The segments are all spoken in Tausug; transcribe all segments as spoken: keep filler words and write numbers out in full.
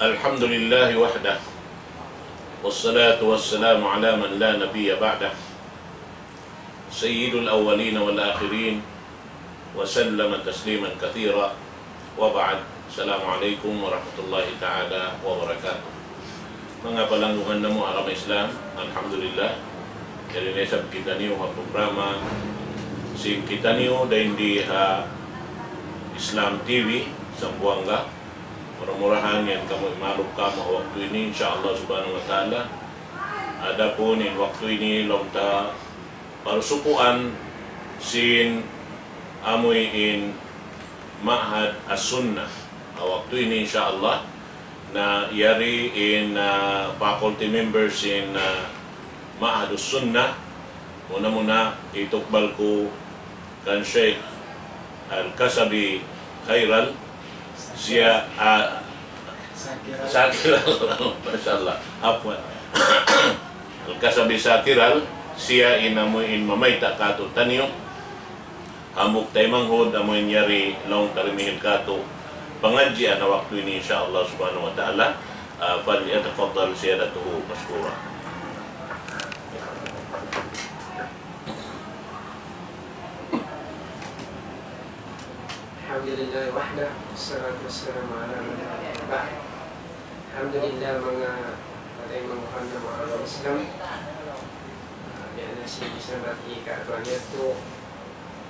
الحمد لله وحده، والصلاة والسلام على من لا نبي بعده، سيد الأولين والآخرين، وسلم تسليما كثيرا، وبعد. السلام عليكم ورحمة الله تعالى وبركاته. Manga palanggungan namu' agama Islam, alhamdulillah. Yari na isab kitaniyu ha programa sin kitaniyu dayn di ha Islam T V, Zamboanga. Mura-murahan yan kamu imaluk kamu ha waktu ini, insya Allah subhanahu wa ta'ala. Adapun in waktu ini, laung ta parsukuan sin amuin Ma'had As-Sunnah. Ha waktu ini, insya Allah, na yari in, ah, faculty members in, ah, Ma'had As-Sunnah. Muna-muna, itukbal ku kan Sheikh Al-Kasabi Khairal, siya, ah, Sakiral. Masya Allah. Afwan. Al-Kasabi Sakiral, siya in amuin mamayta' kātu'niyu. Hambuuk taymanghud, amuin yari laung ta rimihil kātu' pangadjian ha waktu ini, insya Allah subhanahu wa ta'ala. Ah, فليتفضل سيادته مشكورا. الحمد لله وحده، والصلاة والسلام على من لا نبي بعده. Alhamdulillah, manga patay, manga kanda, manga Islam. Ah, biya' na sin bisan bat ikaw tuwan yadtu.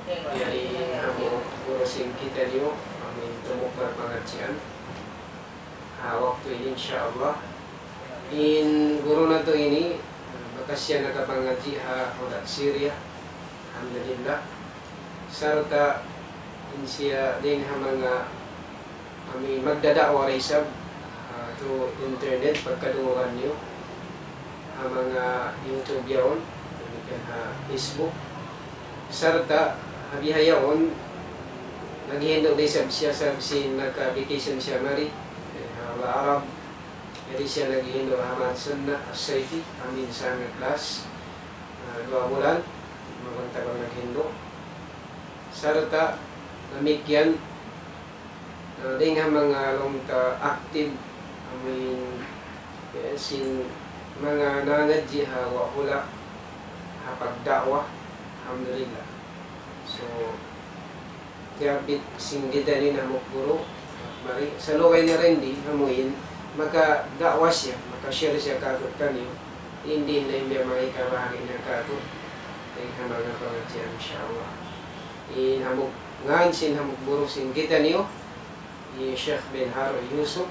Yari hambuuk guru sin kitaniyu, amuin tumukbal pangadjian ha waktu ini, insya Allah. In guru natu' ini, ah, bakas siya nakapangadji' ha hula' Syria. Alhamdulillah. Sarta' in siya dayn ha manga amuin magdada'wa da isab, ah, through internet, pagkadungugan niyu ha manga YouTube yaun, damikkiyan ha Facebook. Sarta' ha bihaun, naghihindu' da isab siya sa sin naka-vacation siya mari, eh, ha hula' Arab. Yari siya naghihindu' ha Ma'had Sunnah As-Sayfi, amuin summer class, ah, duwa bulan, magbantag naghindu'. Sarta' damikkiyan, ah, dayn ha manga laung ta active, amuin, eh, sin manga nangadji' ha wa-, hula' ha pagda'wa, alhamdulillah. So, tiyabit sin kitaniyu in hambuuk guru, mari, salugay niya dayn di, amuin, makada'wa siya, maka-share siya kātu'niyu, in di' na in biya' manga hikabahagi' niya kātu', dayn ha manga pangadjian, insya Allah. In hambuuk, ngan sin hambuuk guru sin kitaniyu, hi Sheikh Benhar Yusuf.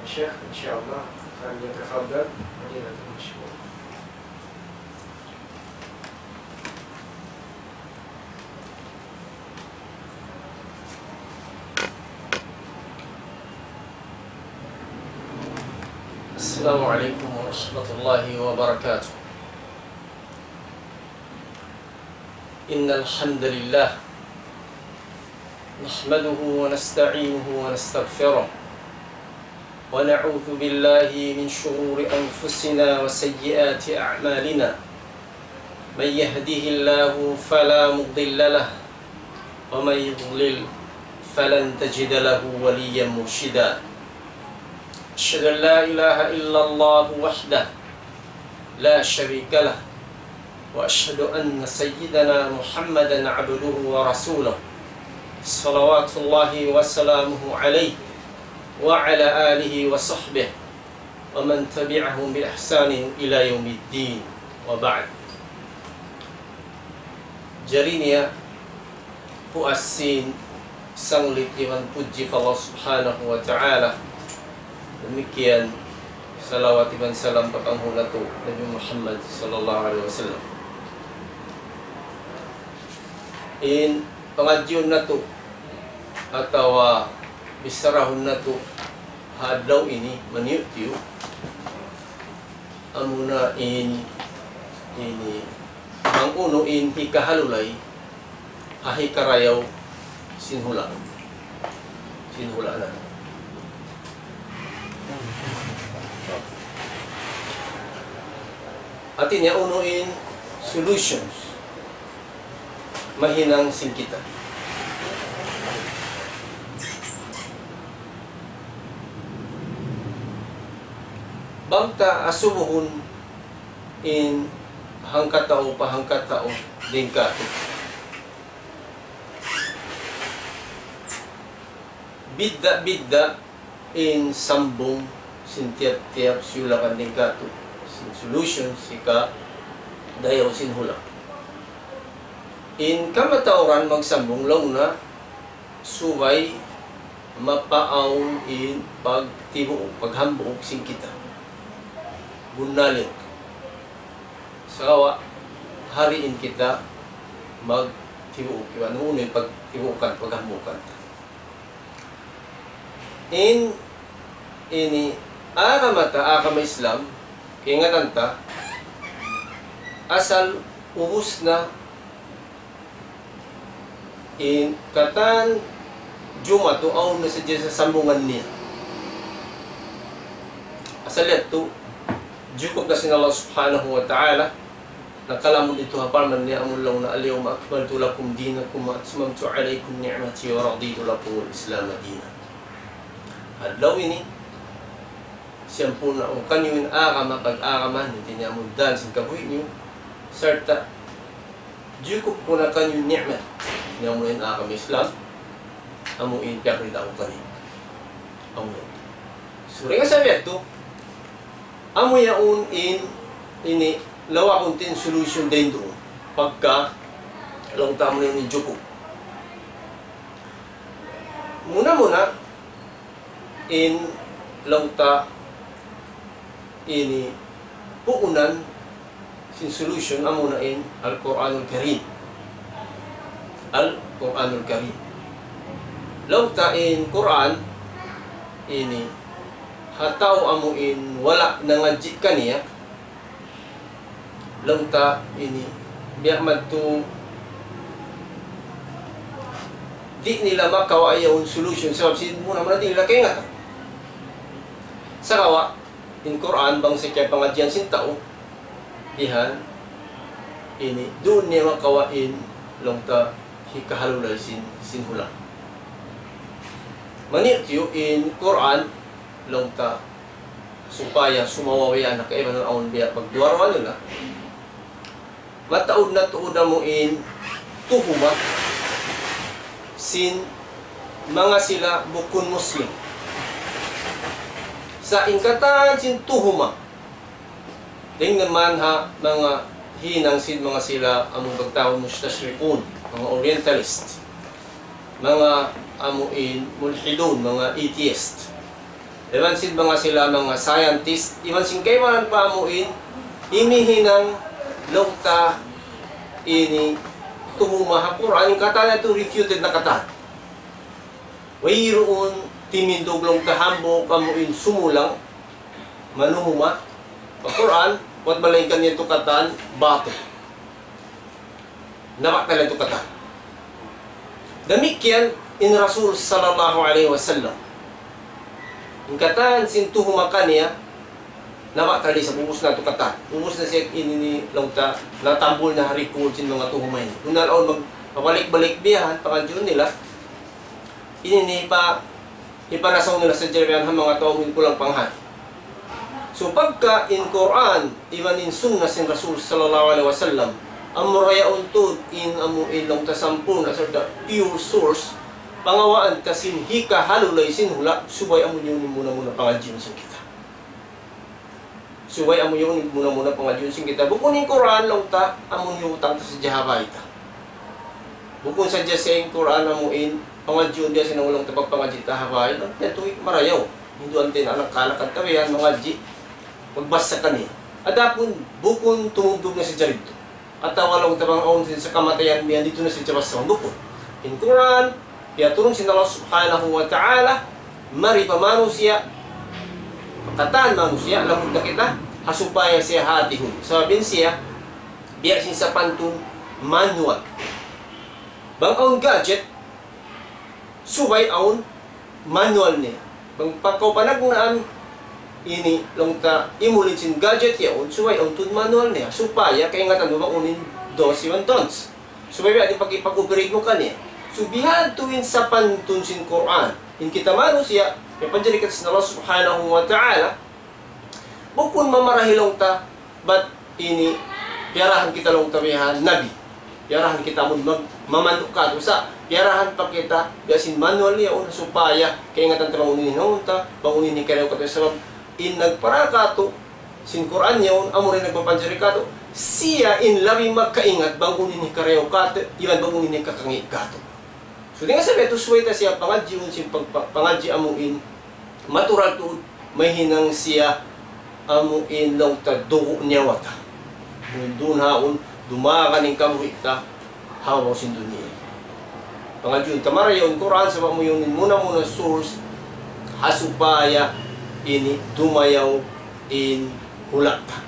Sheikh, insya Allah, فليتفضل فضيلته مشكورا. السلام عليكم ورحمة الله وبركاته. إن الحمد لله نحمده ونستعينه ونستغفره، ونعوذ بالله من شرور أنفسنا وسيئات أعمالنا. من يهده الله فلا مضل له، ومن يضلل فلن تجد له وليا مرشدا. أشهد أن لا إله إلا الله وحده لا شريك له، وأشهد أن سيدنا محمدا عبده ورسوله، صلوات الله وسلامه عليه وعلى آله وصحبه ومن تبعهم بإحسان إلى يوم الدين، وبعد. Jari niya, puas sin sanglit iban pudji pa Allah Subhanahu wa Ta'ala. Damikkiyan, salawat iban salam pa panghu' natu', Nabi Muhammad sallallahu alayhi wasallam. In pangadjiun natu', atawa bichara natu' ha adlaw ini, maniyu'-tiyu', amuna in, ini, bang unu in hikahalulay ha hikarayaw sin hula'. Sin hula' na. Hati niya unu in solutions mahinang sin kita. Bang ta asubuhun in hangkatau pa hangkatau dayn kātu'. Bidda'-bidda' in sambung sin tiyap-tiyap siyulakan dayn kātu', sin solution, sin kadayaw sin hula'. In kamatauran magsambung laung na subay mapaawn in pagtibuuk, paghambuuk sin kita. Bunnal yan. Sagawa', hari in kita magtibuuk, iban unu in pagtibuukan, paghambuukan. In, ini, agama ta, agama Islam, kaingatan ta, asal ubus na in katan Jumatu awn na sadja sambungan niya. Asal yadtu, jukup na sin Allah Subhanahu wa Ta'ala, nakalamud didtu ha parman niya amun laung na, اليوم أكملت لكم دينكم وأتممت عليكم نعمتي ورضيت لكم الإسلام دينا. Adlaw ini, siyampurna' ku kaniyu in agama pag-agama niyu, hāti niya amun dān sin kabuhi' niyu, sarta' jukup ku na kaniyu ni'mat, hāti niya amu in agama Islam, amu in piyakita' ku kaniyu. Amu in. So, dayn ha sabab yadtu, amu yaun in, ini, lawakun ta in solution dayn duun. Pagka, laung ta amu na in jukup. Muna-muna, in laung ta ini puunan sin solution amu na in Al-Qur'anul Karim. Al-Qur'anul Karim. Laung ta in Qur'an ini ha tau amu in wala' nangadji' kaniya, laung ta ini, biya' madtu, di' nila makawa' yaun solution, sabab sin muna-muna di' nila kaingatan. Sagawa', in Qur'an, bang sa kiyapangadjian sin tau, bihan, ini, duun niya makawa' in, laung ta, hikahalulay sin, sin hula'. Maniyu-tiyu in Qur'an, laung ta, supaya sumawawi anak kaibanan awn biya' pagduwa-ruwa nila. Mataud na tuud amu in tuhuma sin manga sila bukun Muslim. Sa' in katan sin tuhuma, dayn naman ha manga hinang sin manga sila amun pagtawagun mustashriqun, manga orientalist, manga amu in mulhidun, manga atheist. Iban sin manga sila manga scientist, iban sin kaibanan pa amu in, ini hinang laung ta ini tuhuma ha Qur'an, in katan yadtu refuted na katan. Wayruun timindug laung ta hambuuk amu in sumulang, manuhuma pa Qur'an, buwat malaingkan yadtu katan batil. Nabatal yadtu katan. Damikkiyan in Rasul sallallahu alayhi wasallam. In katan sin tuhuma kaniya, nabatal da isab, ubus na yadtu katan. Ubus na siya ini, laung ta, natambul na ha record sin manga tuhuma ini. Bunnal awn mag-, pabalik-balik biya' yan, pangadjiun nila. Ini ini pa, hipanasaw nila sadja biya' yan ha manga tau amu in kulang panghati. So, pagka in Qur'an, iban in sunnah sin Rasul sallallahu alayhi wasallam, amura yaun tuud in amu in laung ta sampurna' sarta' pure source, pangawaan ta sin hikahalulay sin hula', subay amu yaun in muna-muna pangadjiun sin kita. Subay amu yaun in muna-muna pangadjiun sin kita. Bukun in Qur'an laung ta, amu in hiyutang ta sadja ha bay ta. Bukun sadja siya in Qur'an amu in pangadjiun biya' sin laung ta pagpangadji' ta ha bay. Yadtu marayaw. Hinduan ta in anak-anak ta biya' yan mangadji'. Magbasa kaniya. Adapun bukun tumugtug na sadja didtu. Atawa laung ta bang awn sin sa kamatayan biya' yan didtu na sadja basahun, bukun. In Qur'an, piyaturun sin Allah Subhanahu wa Ta'ala, mari pa manusiya', katan manusiya', lamud na kita, ha supaya siya hātihun. Sabab in siya, biya' sin sapantun manual. Bang awn gadget, subay awn manual niya. Bang pa kaw panagnaan, ini laung ta imulid sin gadget yaun, subay awn tuud manual niya. Supaya kaingatan mu bang unu in do's iban don'ts. Subay biya' diin pag-, pag-operate mu kaniya. So, bihadtu in sapantun sin Qur'an. In kita manusiya', piyapanjari kita sin Allah Subhanahu wa Ta'ala, Bukun mamarahi laung ta, bat ini piyarahan kita laung ta bihan Nabi. Piyarahan kita amun mag-, mamandu' katu'. Sa' piyarahan pa kita, biya' sin manual niya, un, supaya kaingatan ta bang unu in hinangun ta, bang unu in hikarayaw katu'. Sabab in nagpara katu', sin Qur'an yaun, amu in nagpapanjari katu', siya in labi makaingat bang unu in hikarayaw katu', iban bang unu in hikakangi' katu'. So, dayn ha sabab yadtu subay ta siya pangadjiun sin pag-, pa-, pangadji' amu in matural tuud, mahinang siya amu in laung ta dugu' nyawa ta. Duun ha yaun, dumagan in kabuhi' ta, ha babaw sin dunya. Pangadjiun ta marayaw in Qur'an, sabab amu yaun in muna-muna source, ha supaya ini dumayaw in hula' ta.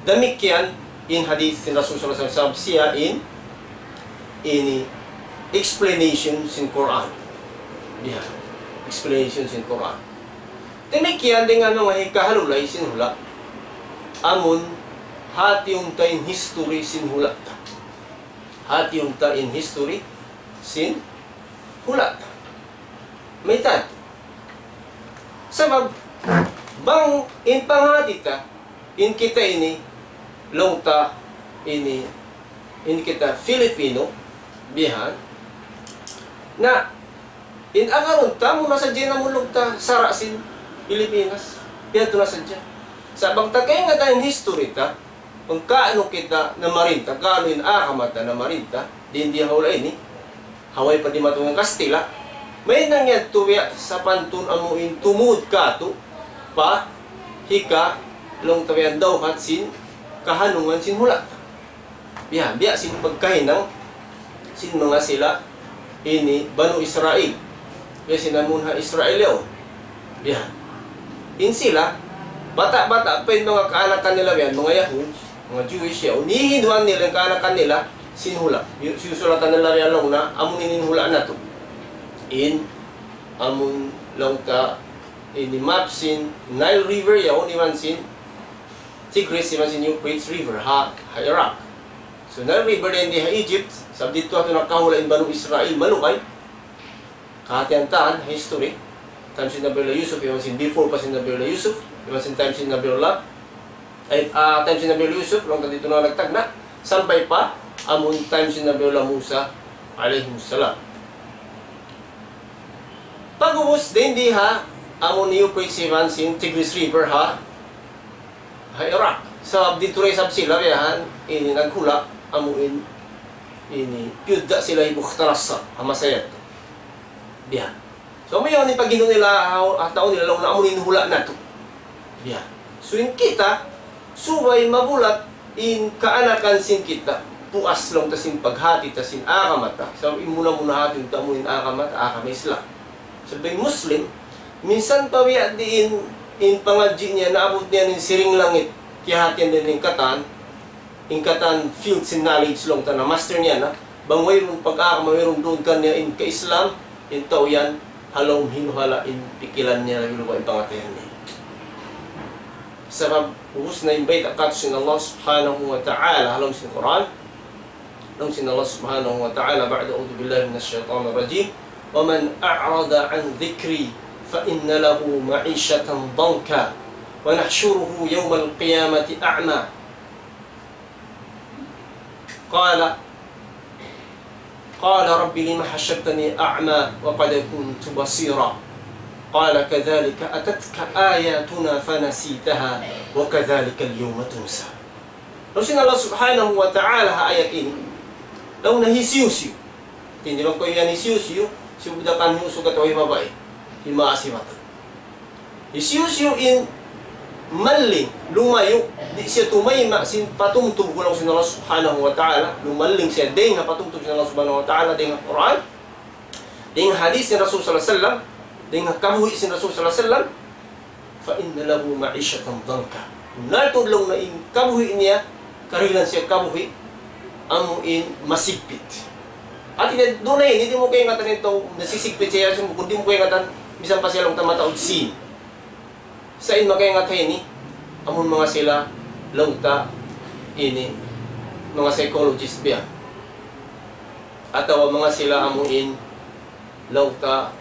Damikkiyan in hadith sin Rasul sallallahu alayhi wasallam, siya in, ini explanation sin Qur'an. Biya', explanation sin Qur'an. Damikkiyan dayn ha manga hikahalulay sin hula'. Amun hatiun ta in history sin hula' ta. Hatiun ta in history sin hula' ta. Mayta'? Sabab, bang in panghati ta, in kita ini, laung ta ini, in kita Filipino, bihan. Na, in agarun ta, muna sadja in amun laung ta, sara' sin Pilipinas. Biya' tu na sadja. Sa' bang ta kaingatan in history ta, bang kaunu kita namarinta, kaunu in agama ta namarinta, di' ha hula' ini, ha way pa dimatung in Kastila', mahinang yadtu biya' sapantun amu in tumud katu', pa hika laung ta biya' dawhat sin kahanungan sin hula' ta. Biya', biya' sin pagkahinang sin manga sila ini Banu Israil. Biya' sin amun ha Israil yaun. Biya'. In sila, bata'-bata' pa in manga kaanakan nila biya', manga Yahud, manga Jewish yaun, hihinduan nila in kaanakan nila sin hula'. Yu-, siyusulatan nila biya' laung na, amu ini in hula' natu'. In, amun laung ta, ini map sin Nile River yaun, iban sin Tigris, iban sin Euphrates River, ha, ha Iraq. So, Nile River dayn di ha Egypt, sabab didtu yadtu nakahula' in Banu Israil, malugay. Kahatihan ta ha history, time sin Nabiullah Yusuf, iban sin before pa sin Nabiullah Yusuf, iban sin time sin Nabiullah, ay, ah, time sin Nabiullah Yusuf, laung ta didtu na nagtagna', sampay pa, amun time sin Nabiullah Musa, alayhimus salam. Pag'ubus, dayn di ha, amun Euphrates iban sin Tigris River ha, ha Iraq. Sabab didtu da isab sila biyahan, ini naghula', amu in, ini, piyudda' sila hi Bukhtarasar, ha masa yadtu. Biyahan. So, amu yaun in paghindu' nila, ha, ha tau nila, laung na amu in hula' natu'. Biyahan. So, in kita, subay mabulat in kaanakan sin kita, puas laung ta sin paghati ta sin agama ta. Sabab in muna-muna hati ta amu in agama ta, agama Islam. Sabab in Muslim, minsan pa biya' diin in pangadji' niya, naabut niya in siring langit, kiyahatihan niya in katan, in katan field sin knowledge laung ta na master niya na, bang wayruun pag-agama, wayruun duun kaniya in ka-Islam, in tau yan, ha lawm hinuhala' in pikilan niya, labi-labi in pangatayan niya. Sabab, ubus na in bayta' katu' sin Allah Subhanahu wa Ta'ala, ha lawm sin Qur'an, laung sin Allah Subhanahu wa Ta'ala, بعد أعوذ بالله من الشيطان الرجيم، ومن أعرض عن ذكري فإن له معيشة ضنكا ونحشره يوم القيامة أعمى. قال، قال رب لم حشرتني أعمى وقد كنت بصيرا. قال كذلك أتتك آياتنا فنسيتها وكذلك اليوم تنسى. Laung sin Allah Subhanahu wa Ta'ala ha ayat ini, laung na hisiyu-siyu. Di' ba kaw yan hisiyu-siyu, sibu' da kan hiusug atawa hi babai, hi maas hi batai. Hisiyu-siyu in malling, lumayu', di' siya tumayma' sin patumtum ku laung sin Allah Subhanahu wa Ta'ala, lumalling siya dayn ha patumtum sin Allah Subhanahu wa Ta'ala, dayn ha Qur'an, dayn ha hadith sin Rasul sallallahu alayhi wasallam, dayn ha kabuhi' sin Rasul sallallahu alayhi wasallam, فإن له معيشة ضنكا. Bunnal tuud laung na in kabuhi' niya, karihilan siya kabuhi', amu in masigpit. Hati niya, duun na ini, di' mu kaingatan in tau nasisigpit siya, sumukun, di' mu kaingatan, misan pa siya laung ta mataud sin. Sa' in makaingat ha ini, amun manga sila, laung ta, ini, manga psychologist biya'. Atawa manga sila amu in, laung ta,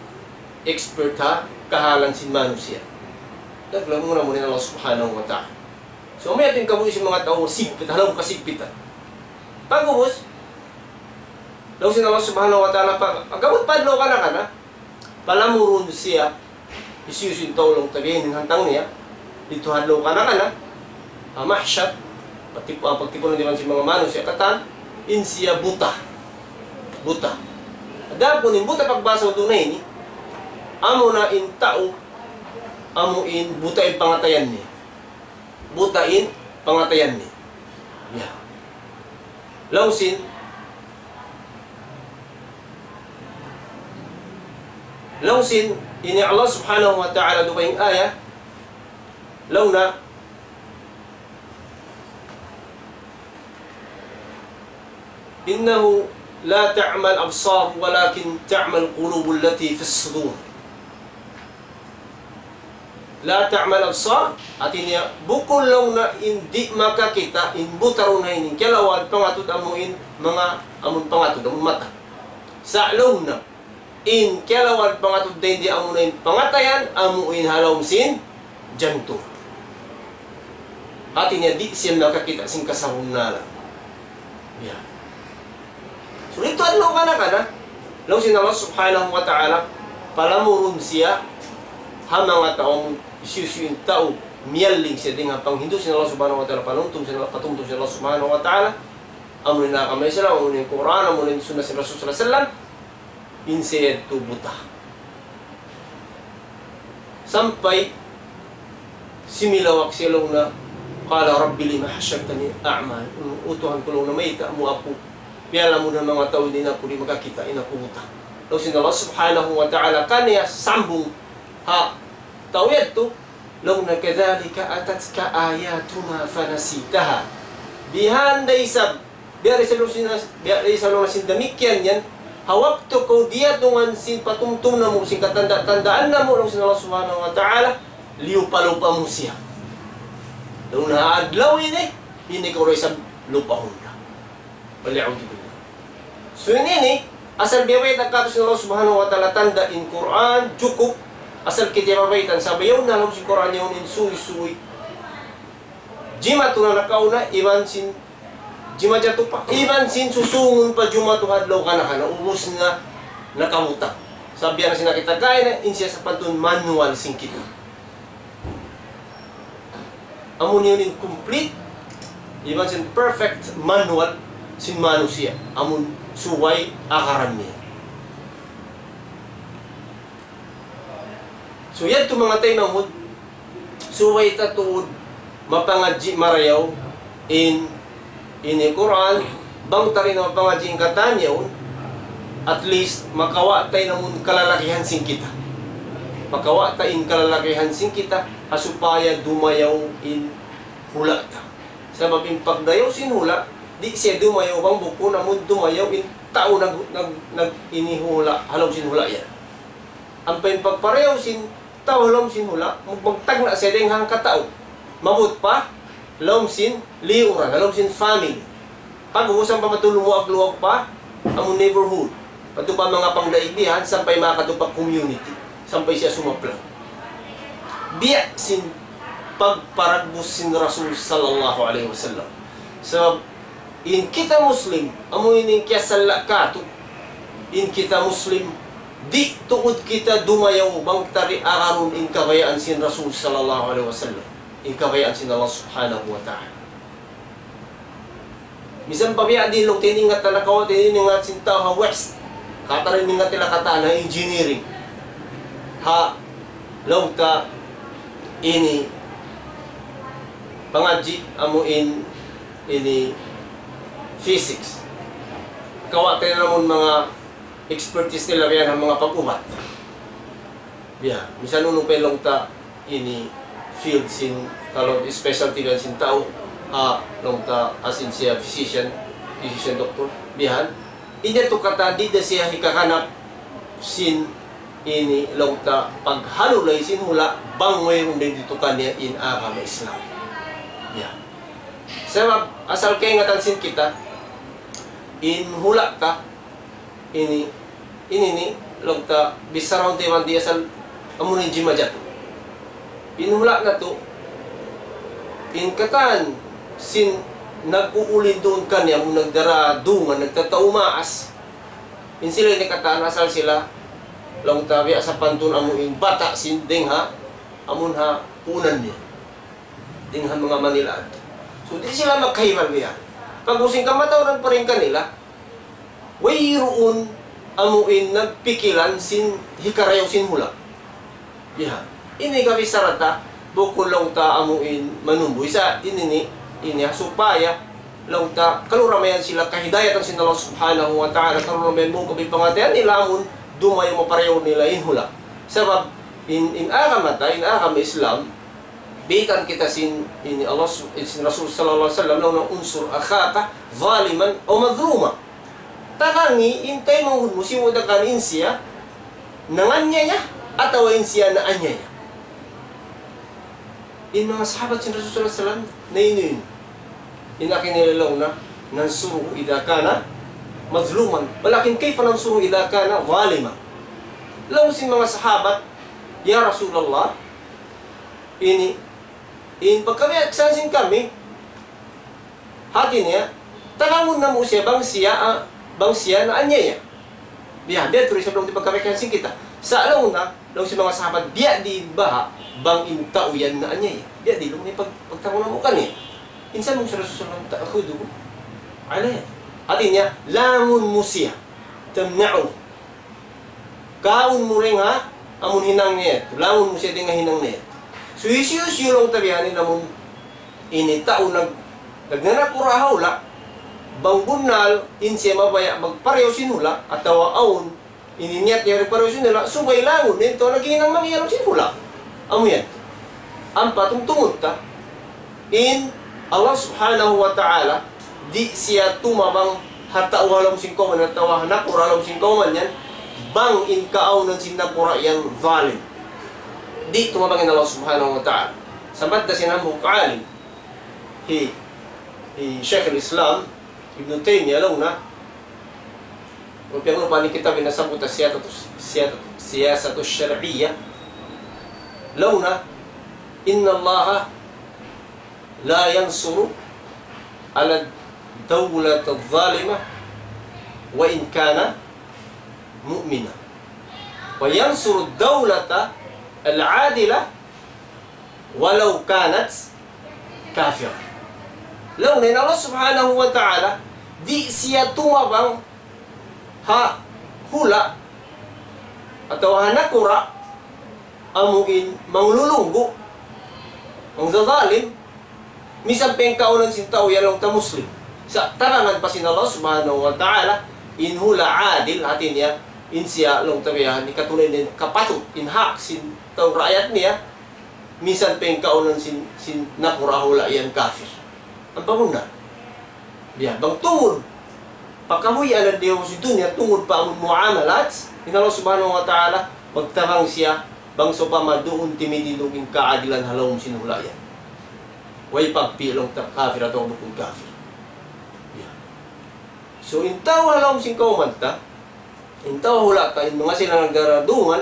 expert ha kahalan sin manusiya'. Naglamu na muna in Allah Subhanahu wa Ta'ala. So, amu yan in kabuhi' sin manga tau, sigpit, halaum kasigpitan. Pag'ubus, laung sin Allah Subhanahu wa Ta'ala, pag, pag-abut pa adlaw kana-kana, palamurun siya, hisiyu-siyu in tau laung ta biya' ini in hantang niya, didtu ha adlaw kana-kana, ha mahsyar, pagtip-, ah, pagtipunan iban sin manga manusiya' katan, in siya buta. Buta. Adapun in buta pagbahasa duun ini, amu na in tau, amu in buta in pangatayan niya. Buta in pangatayan niya. Ya. Laung sin, laung sin, ini Allah Subhanahu wa Ta'ala dugaing ayat, laung niya, إنه لا تعمى الأبصار ولكن تعمى القلوب التي في الصدور. لا تعمى الأبصار, hati niya, bukun laung niya in di' makakita', in buta duun ini, kiyalawan pangatud amu in manga, amun pangatud, amun mata. Sa' laung niya, in kiyalawan pangatud dayn di amu na in pangatayan, amu in ha lawm sin jantung. Hati niya di' siya makakita' sin kasabunnalan. Ya. So, didtu adlaw kana-kana, laung sin Allah Subhanahu wa Ta'ala, palamurun siya, ha manga tau, hisiyu-siyu in tau, miyalling siya dayn ha panghindu' sin Allah Subhanahu wa Ta'ala, panumtum sin Allah, patumtum sin Allah Subhanahu wa Ta'ala, amu in agama Islam, amu in Qur'an, amu in sunnah sin Rasul sallallahu alayhi wasallam, in siya yadtu buta. Sampay similawak siya laung niya, قال رب لم حشرتني أعمى. O Tuhan ku, laung niya, mayta' mu aku piyalamun ha manga tau ini, in aku di' makakita', in aku buta. Laung sin Allah Subhanahu wa Ta'ala kaniya sambung ha tau yadtu, laung niya, كذلك أتتك آياتنا فنسيتها. Bihan da isab, biya' da isab laung sin, biya' da isab laung sin damikkiyan yan, ha waktu kaw diyatungan sin patumtum namu', sin katanda-tandaan namu', laung sin Allah Subhanahu wa Ta'ala, liyupa-lupa mu siya. Laung niya ha adlaw ini, ini kaw da isab lupahun da. والعياذ بالله. So, in ini, asal biya' bayta' katu' sin Allah Subhanahu wa Ta'ala tanda' in Qur'an, jukup, asal kita biya' bayta', sabab yaun na ha lawm sin Qur'an yaun in suysuy. Jimatu na nakauna, iban sin, jimajatu pa, iban sin susungun pa jumatu ha adlaw kana-kana, ubus na nakabutang. Sabab biya' na sin nakita' kaina, in siya sapantun manual sin kita. Amu na yan in complete, iban sin perfect manual sin manusiya'. Amu in subay agaran niya. So, yadtu manga taymanghud, subay ta tuud mapangadji' marayaw in ini Qur'an, bang ta di' na mapangadji' in katan yaun, at least makawa' ta in amun kalalagihan sin kita. Makawa' ta in kalalagihan sin kita, ha supaya dumayaw in hula' ta. Sabab in pagdayaw sin hula', di' siya dumayaw bang bukun amun dumayaw in tau nag-, nag-, nag-, ini hula', ha lawm sin hula' yan. Ampa in pagparayaw sin tau ha lawm sin hula', mag-, magtagna' siya dayn ha hangka tau. Maabut pa, ha lawm sin liyuran, ha lawm sin family. Pag'ubus ampa madtu lumuag-luag pa, amun neighborhood. Madtu pa manga pangdaig bihan, sampay makadtu pa community. Sampay siya sumaplag. Biya' sin pagparagbus sin Rasul sallallahu alayhi wasallam. Sabab, in kita Muslim, amu ini in kiyasala' katu'. In kita Muslim, di' tuud kita dumayaw bang ta di' agarun in kabayaan sin Rasul sallallahu alayhi wasallam. In kabayaan sin Allah Subhanahu wa Ta'ala. Misan pa biya' diin laung ta in ingat ta nakawa', in ingat sin tau ha West. Katan in ingat nila katan ha engineering. Ha, laung ta ini pangadji' amu in ini physics. Kawa' ta in amun manga expertise nila biya' ha manga pag-ubat. Biya', misan unu pa in laung ta ini field sin, kalu specialty biya' sin tau, ha, laung ta as in siya physician, physician doctor, biya' yan. Ini tu katan di' da siya hikahanap sin ini laung ta paghalulay sin hula' bang wayruun dayn didtu kaniya in agama Islam. Biya' yan. Sabab asal kaingatan sin kita, in hula' ta, ini, ini ini, laung ta, bichara unti' man di' asal, amu in jimajatu. In hula' natu', in katan sin nag-uulin duun kaniya, amu in nagdara dungan, nagtatau maas. In sila ini katan asal sila, laung ta biya' sapantun amu in bata' sin dayng ha, amun ha puunan niya. Dayng ha manga Manila. So, di' sila magkahimal biya'. Pag-ubus in kamatauran pa dayn kanila, wayruun amu in nagpikilan sin hikarayaw sin hula'. Biya'. Ini kabisaratan, bukun laung ta amu in manumbuy. Sa' ini ini, ini ha supaya laung ta, karungugan sila kahidayatan sin Allah Subhanahu wa Ta'ala, karungugan mu kapipangatean nila amun dumayaw maparayaw nila in hula'. Sabab, in, in agama ta, in agama Islam, biyaytaan kita sin, ini Allah su-, sin Rasul sallallahu alayhi wasallam, laung niya انصر أخاك ظالما أو مظلوما. Tabangi in taymanghud mu, sibu' da kan in siya nanganiyaya atawa in siya naaniyaya. In manga sahabat sin Rasul sallallahu alayhi wasallam, nainu-inu. In agi nila laung niya, ننصره إذا كان مظلوما، ولكن كيف ننصره إذا كان ظالما؟ Laung sin manga sahabat, "Ya Rasulullah, ini, in pagkabiyaksahan sin kami, hati niya, tabangun namu' siya bang siya, ah, bang siya naaniyaya." Biya', biya' tuud isab laung di' pagkabiyaksahan sin kita. Sa' laung niya, laung sin manga sahabat, biya' diin baha', bang in tau yan naaniyaya. Biya' diin laung niya pag-, pagtabangun namu' kaniya. In sambung sin Rasul sallallahu alayhi wasallam, تأخذه على يده. Hati niya, langun mu siya. تمنعه. Kaun mu dayn ha, amun hinang niya. Langun mu siya dayn ha hinang niya. So, hisiyu-siyu laung ta biya' ini amun ini tau nag-, nagnanakura' ha hula', bang bunnal, in siya mabaya' magparayaw sin hula', atawa awn, ini niyat niya magparayaw sin hula', subay langun, in tau naghihinang mangi' ha lawm sin hula'. Amu yan. Ampa tungtungud ta, in Allah Subhanahu wa Ta'ala, di' siya tumabang ha tau ha lawm sin kawman, atawa ha nakura' ha lawm sin kawman yan, bang in kaawnan sin nakura' yan zalim. Di' tumabang in Allah Subhanahu wa Ta'ala. Sambat da sin hambuuk alim, hi, hi Shaykh al-Islam, Ibn Taymiyyah, laung niya, amu piyagrupa ini kitab ini nasabbut siyasatu, siyasatu, siyasatu shar'iyyah. Laung niya, إن الله لا ينصر على الدولة الظالمة وإن كان مؤمنا، وينصر الدولة العادلة ولو كانت كافرة. Laung niya in Allah Subhanahu wa Ta'ala, di' siya tumabang ha hula' atawa ha nakura' amu in manglulunggu', mangzazalim, misan pa in kaawnan sin tau yan laung ta Muslim. Sa' tabangan pa sin Allah Subhanahu wa Ta'ala, in hula' adil, hati niya, in siya laung ta biya' ini katunay niya in kapatut, in hak sin tau raayat niya, misan pa in kaawnan sin, sin nakura' hula' yan kafir. Ampa bunnal. Biya', bang tungud pa kabuhianan di ha dunya, tungud pa amun muamalat, in Allah Subhanahu wa Ta'ala, magtabang siya, bang sawpama duun timindug in kaadilan ha lawm sin hula' yan. Way pagpī' laung ta kafir atawa bukun kafir. Biya'. So, in tau ha lawm sin kawman ta, in tau ha hula' ta, in manga sila nagdara dungan,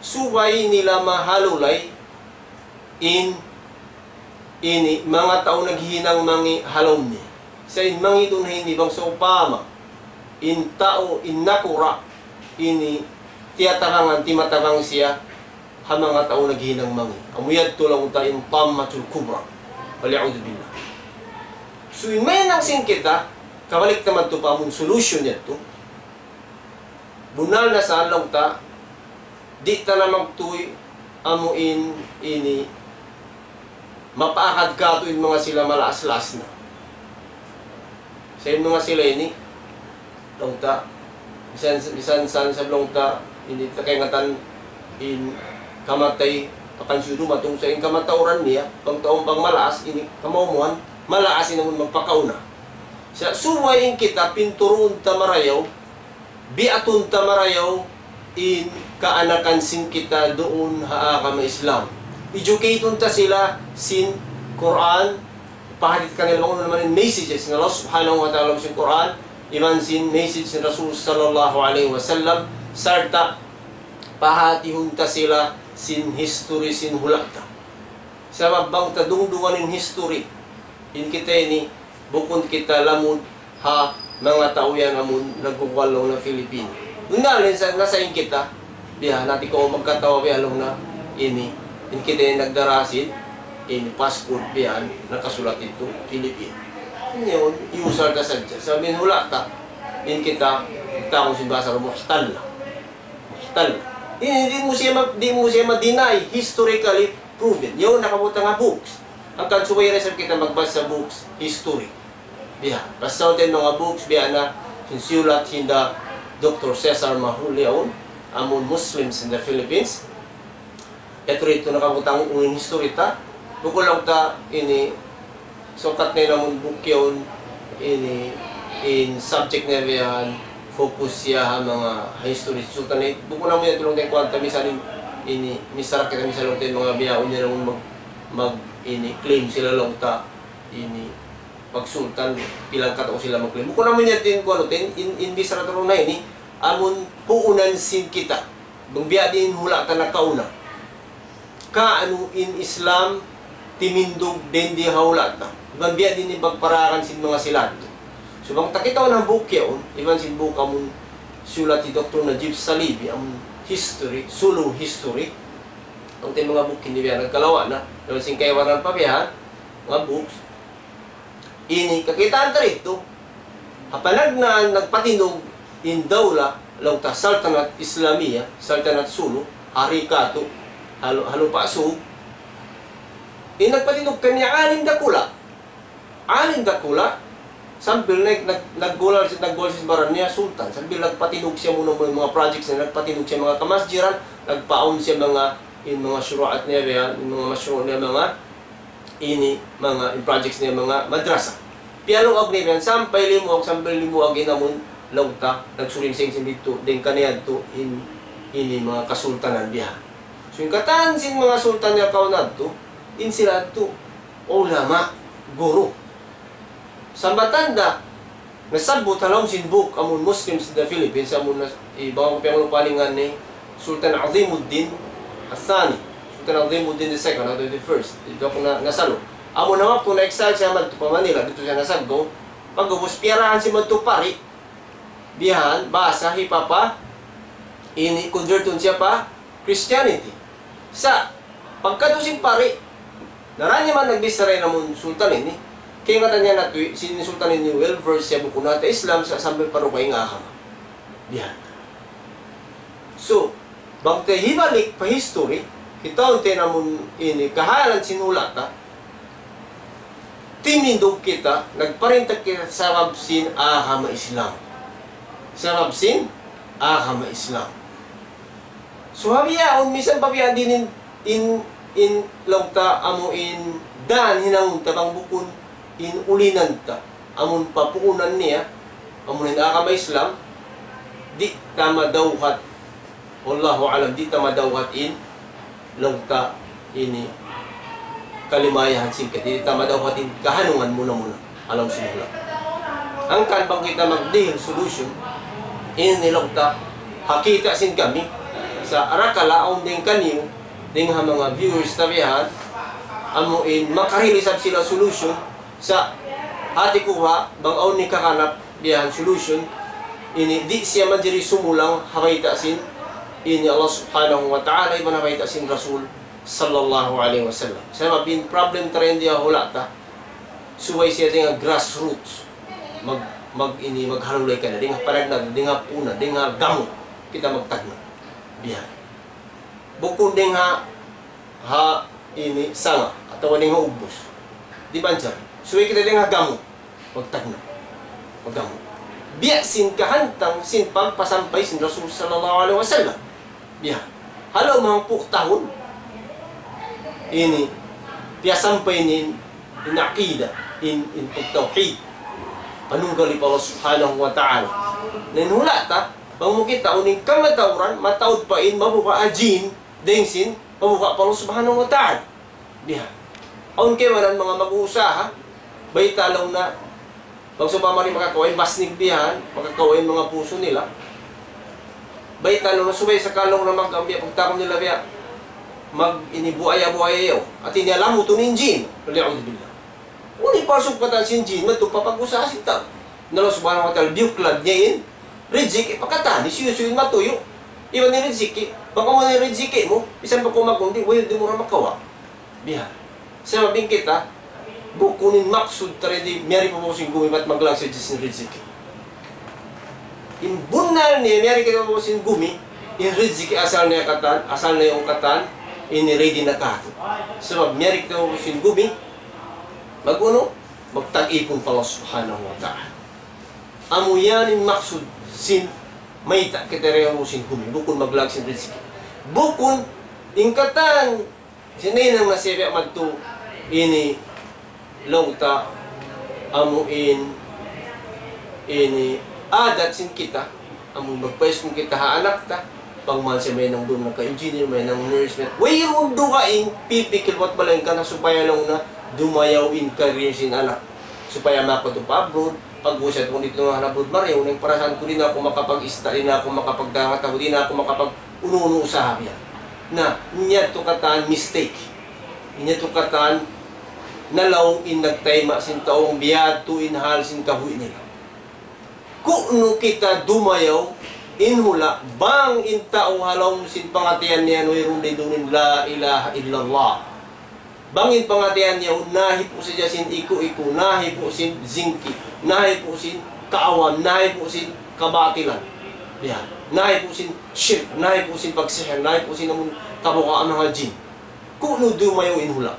subay nila mahalulay in, ini, manga tau naghihinang mangi' ha lawm niya. Sa' in mangi' duun ha ini bang sawpama, in tau, in nakura', ini, tiyatabangan, timatabang siya, ha manga tau naghihinang mangi'. Amu yadtu laung ta in tammatul kubra. Wal iyadhu billah. So, in mahinang sin kita, kabalik ta madtu pa amun solution yadtu. Bunnal na sa laung ta, di' ta na magtuy amu in ini mapaakad katu' in manga sila malaas-laas na. Sa' in manga sila ini, laung ta, misan, misan sa, sa laung ta, ini ta kaingatan in kamatay, pakansiyu dumatung sa in kamatauran niya, bang tau bang malaas, ini kamaumuhan, malaas in amun magpakauna. Sa' subay in kita, pinturuun ta marayaw, biatun ta marayaw in kaanakan sin kita duun ha agama Islam. Educate-un ta sila sin Qur'an, pahadit kanila bang unu na man in message sin Allah Subhanahu wa Ta'ala sin Qur'an, iban sin message sin Rasul sallallahu alayhi wasallam, sarta' pahatihun ta sila sin history sin hula' ta. Sabab bang ta dungdungan in history, in kita ini, bukun kita lamud ha manga tau yan amun nagkukuan laung na Philippine. Unda, nasa in kita, biya' nati' kaw magkatawa biya' laung na ini, in kita ini nagdara sin, in passport biya' nakasulat itu Philippine. Ini yaun, usal ta sadja. Sabab in hula' ta, in kita, tau sin bahasa muhtal. Tal. Di', di' mu siya ma-, di' mu siya ma-deny, historically proven. Yaun nakabutang ha books. Hangkan subay da isab kita magbasa books, history. Biya'. Basa ta in manga books, biya' na, sin siyulat hinda Doktor Cesar Mahul yaun, amun Muslims in the Philippines. Yadtu nakabutang in history ta. Bukun laung ta ini sukat na in amun book yaun ini in subject niya biya' yan focus siya ha manga history sultanate. Bukun amu yan laung ta kuwan ta misan in, ini misan kita misan laung ta manga biya' yan laung mag, mag ini claim sila laung ta ini pagsultan pilang katau sila mag-claim. Bukun amu yan tin kuwan tin in, in bichara ta laung na ini amun puunan sin kita. Bang biya' diin hula' ta nakauna. Kaunu in Islam timindug dayn di ha hula' ta. Iban biya' diin in pagparayakan sin manga sila yadtu. So bang ta kitaun in book yaun, iban sin book amun siyulat hi Doktor Najib Saleeby, amun history, Sulu history. Awn ta manga book ini biya' nagkalawa' na, iban sin kaibanan pa biya' ha, manga books. Ini kakitaan ta didtu, ha panagnaan nagpatindug in dawla, laung ta Saltanat Islamiyah, Saltanat Sulu, hari katu', ha lu-, ha Lupa' Sug. In nagpatindug kaniya alim dakula'. Alim dakula', sambil nag-, nag-, naggulal siya, naggulal siya sin baran niya, sultan. Sambil nagpatindug siya muna-muna manga projects niya, nagpatindug siya manga kamasjiran, nagpaawn siya manga, in manga shuru'at niya, biya', in manga mashru' niya, manga ini manga in projects niya manga madrasa. Piyaluag niya yan, sampay limuag, sampay limuag in amun laung ta, nagsuling-siling sin didtu, dayn kaniya yadtu, in, ini manga kasultanan biya' ha. So, in katan sin manga sultan niya kauna yadtu, in sila yadtu, ulama, guru. Sambatan da, nasabbut ha lawm sin book amun Muslims in the Philippines, amun nas-, iban ku piyanglupa in ngan niya, Sultan Azimuddin Al-Thani, Sultan Azimuddin the second, atawa the first, di' aku na, nasalu. Amun waktu na-exile siya madtu pa Manila, didtu siya nasaggaw. Pag'ubus piyarahan siya madtu pari, biya' yan, basa, hipapa, ini, convertun siya pa Christianity. Sa', pagkadtu sin pari, daran niya man nagbichara in amun sultan ini, kaingatan niya na tuwi', sin sultan ini well versed siya bukun ha Islam sa' sampay pa dugaing agama. Biya' yan. So, bang ta hibalik pa history, kitaun ta in amun ini kahalan sin hula' ta, timindug kita, nagparinta kita sabab sin agama Islam. Sabab sin agama Islam. So, ha bihaun, misan pa biya' diin in, in, in laung ta amu in dan hinangun ta bang bukun in ulinan ta. Amun papuunan niya, amun in agama Islam, di' ta madawhat. Wallahu a'lam, di' ta madawhat in laung ta ini kalimayahan sin kita, di' ta madawhat in kahanungan muna-muna. Alam sin hula'. Hangkan bang kita magdihil solution, ini laung ta, ha kita' sin kami, sa' arakala' awn dayn kaniyu, dayn ha manga viewers ta biya' yan, amu in makarihil isab sila solution, sa' hati ku ha, bang awn nikahanap biya' yan solution, ini di' siya manjari sumulang ha bayta' sin, ini Allah Subhanahu wa Ta'ala, iban ha bayta' sin Rasul, sallallahu alayhi wasallam. Sabab in problem ta dayn di ha hula' ta, subay siya dayn ha grassroots. Mag, mag ini, maghalulay ka na, dayn ha panagnaan, dayn ha puna, dayn ha gamut, kita magtagna'. Biya' yan. Bukun dayn ha, ha ini sanga, atawa dayn ha ugbus. Di' manjari. Subay kita dayn ha gamut. Magtagna'. Maggamut. Biya' sin kahantang sin pagpasampay sin Rasul sallallahu alayhi wasallam. Biya'. Ha lawm hangpu' tahun. Ini. Piyasampay niya in, in aqida. In, in pagtawhid. Panunggal pa Allah Subhanahu wa Ta'ala. Na in hula' ta, bang mu kita' unu in kamatauran, mataud pa in mabuga' ha jin, dayn sin, mabuga' pa Allah Subhanahu wa Ta'ala. Biya' yan. Awn kaibanan manga mag-uusaha, bayta' laung na, bang sawpama di' makakawa' in basnig biya' yan, makakawa' in manga pusu nila. Bayta' laung na subay sa' ka laung na mag-ambiya' pagtawagun nila biya'. mag-, ini buaya-buaya yaun. Hati niya lamutun in jin. Wal iyadhu billah. Unu in pagsugpatan sin jin, madtu pa pag-usaha sin tau. Na Allah Subhanahu wa Ta'ala, biyuklad niya in riziki pa katan, hisiyu-siyu in matuyu'. Iban in riziki, bang amu in riziki mu, misan pa kaw magundi', way di' mu ra makawa'. Biya' ha yan. Sabab in kita, bukun in maksud ta di' miyari pa babaw sin gumi bat maglagsi sin riziki. In bunnal niya, miyari kita pa babaw sin gumi, in riziki asal niya katan, asal niya yaun katan, ini ready na katu'. Sabab miyari kita pa babaw sin gumi, mag-unu, magtag-ipun pa Allah Subhanahu wa Ta'ala. Amu yan in maksud sin mayta' kita yari pa babaw sin gumi, bukun maglag sin riziki. Bukun in katan, sin hinang na siya biya' madtu ini laung ta amu in ini adat sin kita, amu in magpaiskul kita ha anak ta, bang man siya mahinang duun nagka-engineer, mahinang nurse, wayruun dugaing pipikil bat malaingkan na supaya laung na dumayaw in career sin anak. Supaya makadtu pa abroad, pag-usat kung didtu na abroad, marayaw na in parasaan ku, di' na aku makapag-ista, di' na aku makapagdangat, di' na aku makapag-unu-unu usaha biya'. Na, in yadtu katan mistake. In yadtu katan nalaung in nagtayma' sin tau, bang biya' yadtu in hal sin kabuhi' nila. Ku'nu kita dumayaw in hula', bang in tau ha lawm sin pangatayan niya wayruun duun in la ilaha illallah. Bang in pangatayan niya yaun nahipu' sadja sin iku-iku, nahipu' sin jingki, nahipu' sin kaawan, nahipu' sin kabatilan. Biya' ha yan. Nahipu' sin shirk, nahipu' sin pagsihir, nahipu' sin amun kabukaan manga jin. Ku'nu dumayaw in hula'.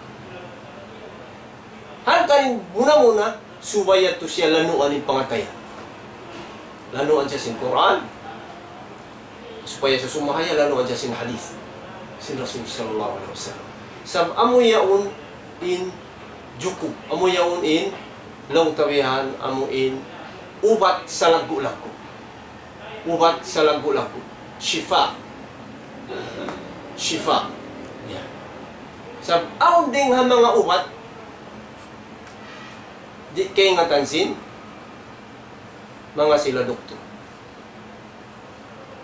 Hangkan in muna-muna, subay yadtu siya lanuan in pangatayan. Lanuan siya sin Qur'an, supaya sa sumahaya lanuan siya sin hadith sin Rasul sallallahu alayhi wasallam. Sabab amu yaun in jukub, amu yaun in laung ta bihan, amu in ubat salaggu'-laggu'. Ubat salaggu'-laggu'. Shifa. Shifa. Ya. Sabab awn dayn ha manga ubat, di' kaingatan sin manga sila doktor.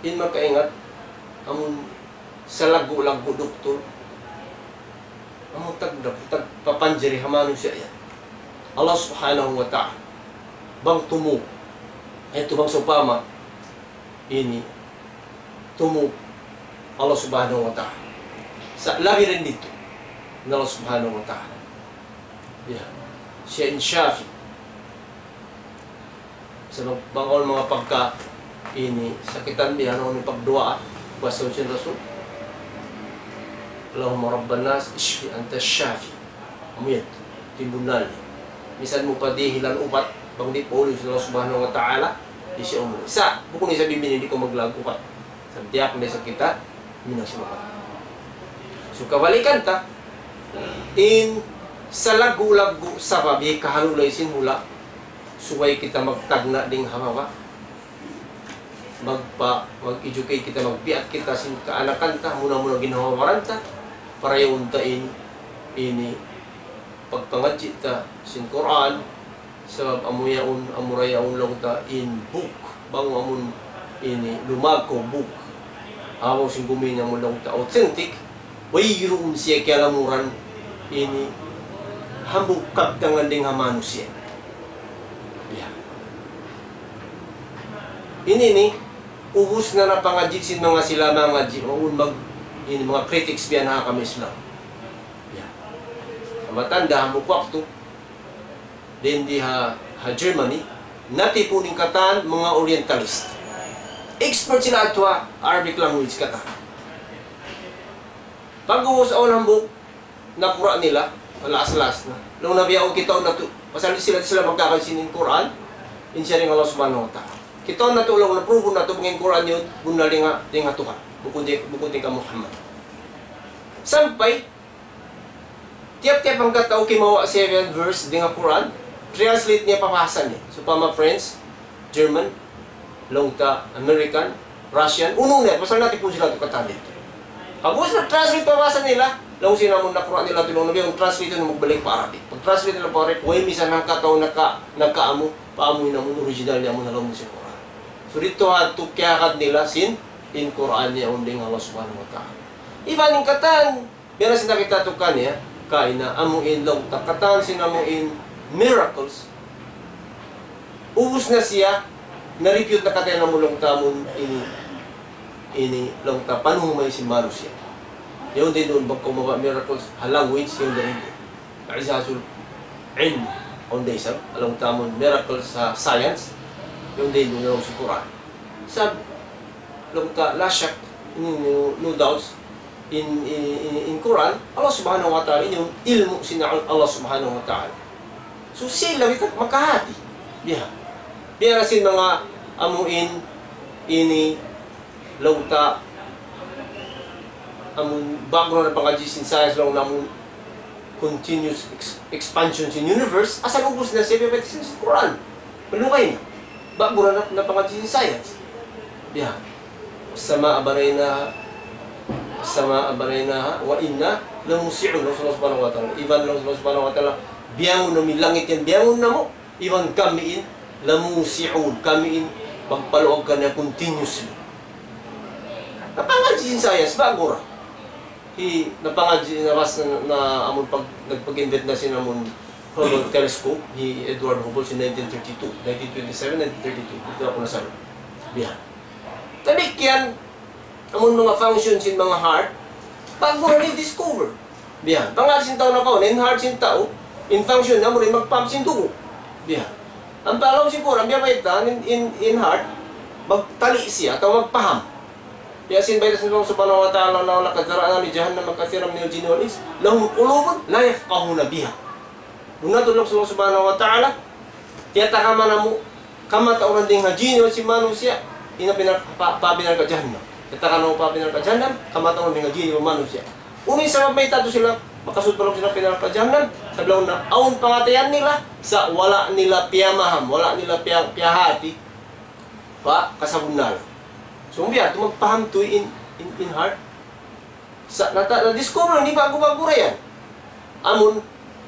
In makaingat, amun salaggu'-laggu' doktor, amun tagda-, tagpapanjari ha manusiya' yan. Allah Subhanahu wa Ta'ala. Bang tumūg. Ay, tumūg sawpama. Ini. Tumūg. Allah Subhanahu wa Ta'ala. Sa' labi dayn didtu. In Allah Subhanahu wa Ta'ala. Ya. Siya in Shafi. Sabab bang awn manga pagka ini sakitan biya' ha yan, pagduwaa, basta sin Rasul, اللهم رب الناس اشف أنت الشافي. Amu yan, timbunal. Misan mu pa dihilan ubat, bang di' pa uli sin Allah Subhanahu wa Ta'ala, di' siya umuli. Sa', bukun isab biya' ini di' kaw maglaag ubat. Sabab tiyak na isab kita minasuha. So, kabalikan ta, in salaggu'-laggu' sabab hikahalulay sin hula', subay kita magtagna' dayn ha baba'. Magpa-, mag-educate kita, magbiat kita sin kaanakan ta, muna-muna ginhawa-baran ta, para yaun ta in, ini, pagpangadji' ta sin Qur'an, sabab amu yaun, amura yaun laung ta in book, bang amun ini lumag kaw book. Amu sin gumi niya amu laung ta authentic, wayruun siya kiyalamuran ini hambuuk kabtangan dayn ha manusiya'. Ya. Ini ini, ubus na napangadji' sin manga sila mangadji', amun mag-, ini manga critics biya' na ha kami Islam. Ya. Matanda hambuuk waktu, dayn di ha, ha Germany, natipun in katan manga Orientalist. Expert sila yadtu ha Arabic language katan. Pag'ubus awn hambuuk nakura' nila, laas-laas na. Laung nila biya' kitaun natu', pasal di' sila, di' sila magkakaji sin Qur'an, in siya dayn Allah Subhanahu wa Ta'ala. Kitaun natu', laung, na-prove natu' bang in Qur'an yan, bunnal dayn ha, dayn ha Tuhan. Bukun dayn, bukun dayn kan Muhammad. Sampay, tiyap-tiyap hangka tau kimawa' seven verse dayn ha Qur'an, translate niya pa bahasa niya. Sawpama French, German, laung ta American, Russian, unu na, pasal natipun sila yadtu katan. Pag'ubus nag-translate pa bahasa nila, laung sin amun nakura' nila yadtu, laung nila, translate na magbalik pa Arabic. Pag-translate nila pa Arabic, way misan hangka tau naka-, nakaamu, paamu in amun original niya amun ha lawm sin Qur'an. So, didtu ha yadtu kiyahagad nila sin, in Qur'an niya yaun dayn ha Allah Subhanahu wa Ta'ala. Iban in katan, Biya' na sin nakita' ta kaniya, kaina amu in laung ta katan sin amu in miracles. Ubus na siya, na-refute na katan amu laung ta amu in ini, ini laung ta panumay sin manusiya'. Yaun da isab bang kaw mabaya' miracles, ha language, yaun da isab. I'jazul ilm, yaun da isab, laung ta amu in miracles ha science, yaun da isab laung sin Qur'an. Sa' laung ta, la shak, no, no doubts, in, in, in, in Qur'an, Allah Subhanahu wa Ta'ala, in ilmu' sin Allah Subhanahu wa Ta'ala. So, sila kita makahati. Biya'. Biya' na sin manga amu in, ini, laung ta, amu in background na pangadji' sin science laung ta amu in continuous ex-, expansion sin universe, asal ubus na siya, biya' sin Qur'an. Malugay na. Background na, na pangadji' sin science. Biya'. والسماء بنيناها والسماء بنيناها وإنا لموسعون, laung sin Allah Subhanahu wa Ta'ala. Iban laung sin Allah Subhanahu wa Ta'ala, biyangun namu' in langit yan, biyangun namu'. Iban kami in, لموسعون, kami in, magpaluag kaniya continuously. Na pangadji' sin science, ba'gu ra. Hi, na pangadji' na ras na, na amun pag, nagpag-invent na sin amun Hubble telescope, hi Edward Hubble sin nineteen thirty-two, nineteen twenty-seven, nineteen thirty-two. Didtu aku nasaru. Biya'. Damikkiyan, amun manga function sin manga heart, ba'gu ra di-discover. Biya'. Pangadji' sin tau nakauna, in heart sin tau, in function, amu ra in mag-pump sin dugu'. Biya'. Ampa laung sin Qur'an, biya' bayta', in, in, in heart, magtali siya, atawa magpaham. Biya' sin bayta' sin Allah Subhanahu wa Ta'ala, لقد ذرأنا لجهنم كثيرا من الجن والإنس لهم قلوب لا يفقهون بها. Bunnal tuud laung sin Allah Subhanahu wa Ta'ala, tiyatakaman namu' kamatauran dayn ha jin iban sin manusiya', in pa, pa, pa narka' jahannam. Tiyatakaman namu' pa narka' jahannam, kamatauran dayn ha jin iban manusiya'. Unu in sabab mayta' tuud sila makasud pa lawm sin narka' jahannam, sabab laung niya, awn pangatayan nila, sa' wala' nila piyamaham, wala' nila piya, piyahati, pa kasabunnalan. So, biya' tuud magpaham tuud in, in, in heart. Sa' nata-, na-discover, di' ba'gu-ba'gu ra yan. Amun,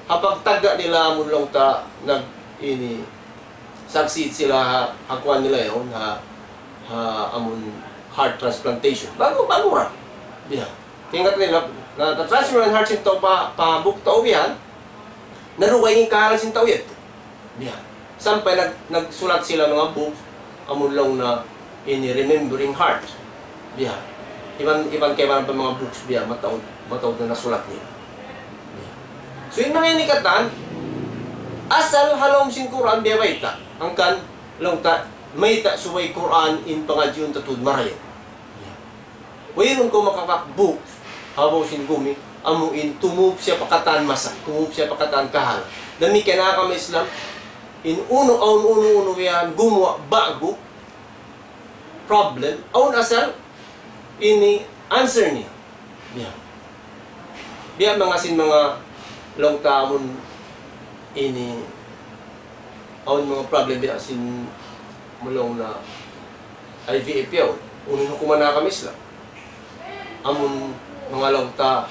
ha pagtagna' nila, amun laung ta, nag-, ini, succeed sila ha, ha kuwan nila yaun, ha, ha, amun heart transplantation. Ba'gu, ba'gu ra. Biya'. Kaya nila, na, na-transfer in heart sin tau pa, pa hambuuk tau biya' yan. Narugay in kahalan sin tau yadtu. Biya'. Sampay nag-, nagsulat sila manga books, amun laung niya ini Remembering Heart. Biya'. Iban, iban kaibanan pa manga books biya', mataud, mataud na nasulat nila. Biya'. So, in manga ini katan, asal ha lawm sin Qur'an biya' bayta'. Hangkan, laung ta, mayta' subay Qur'an in pangadjiun ta tuud marayaw. Wayruun kaw makapak books, ha babaw sin gumi, amu in tumup siya pa katan masa, tumup siya pa katan kahalan. Damikkiyan ha agama Islam, in unu, awn unu-unu yan, gumuwa' ba'gu, problem, awn asal, ini answer niya. Biya'. Biya' manga sin manga laung ta amun ini, awn manga problem biya' sin laung niya I V F yaun. Unu in hukuman ha agama Islam? Amun manga laung ta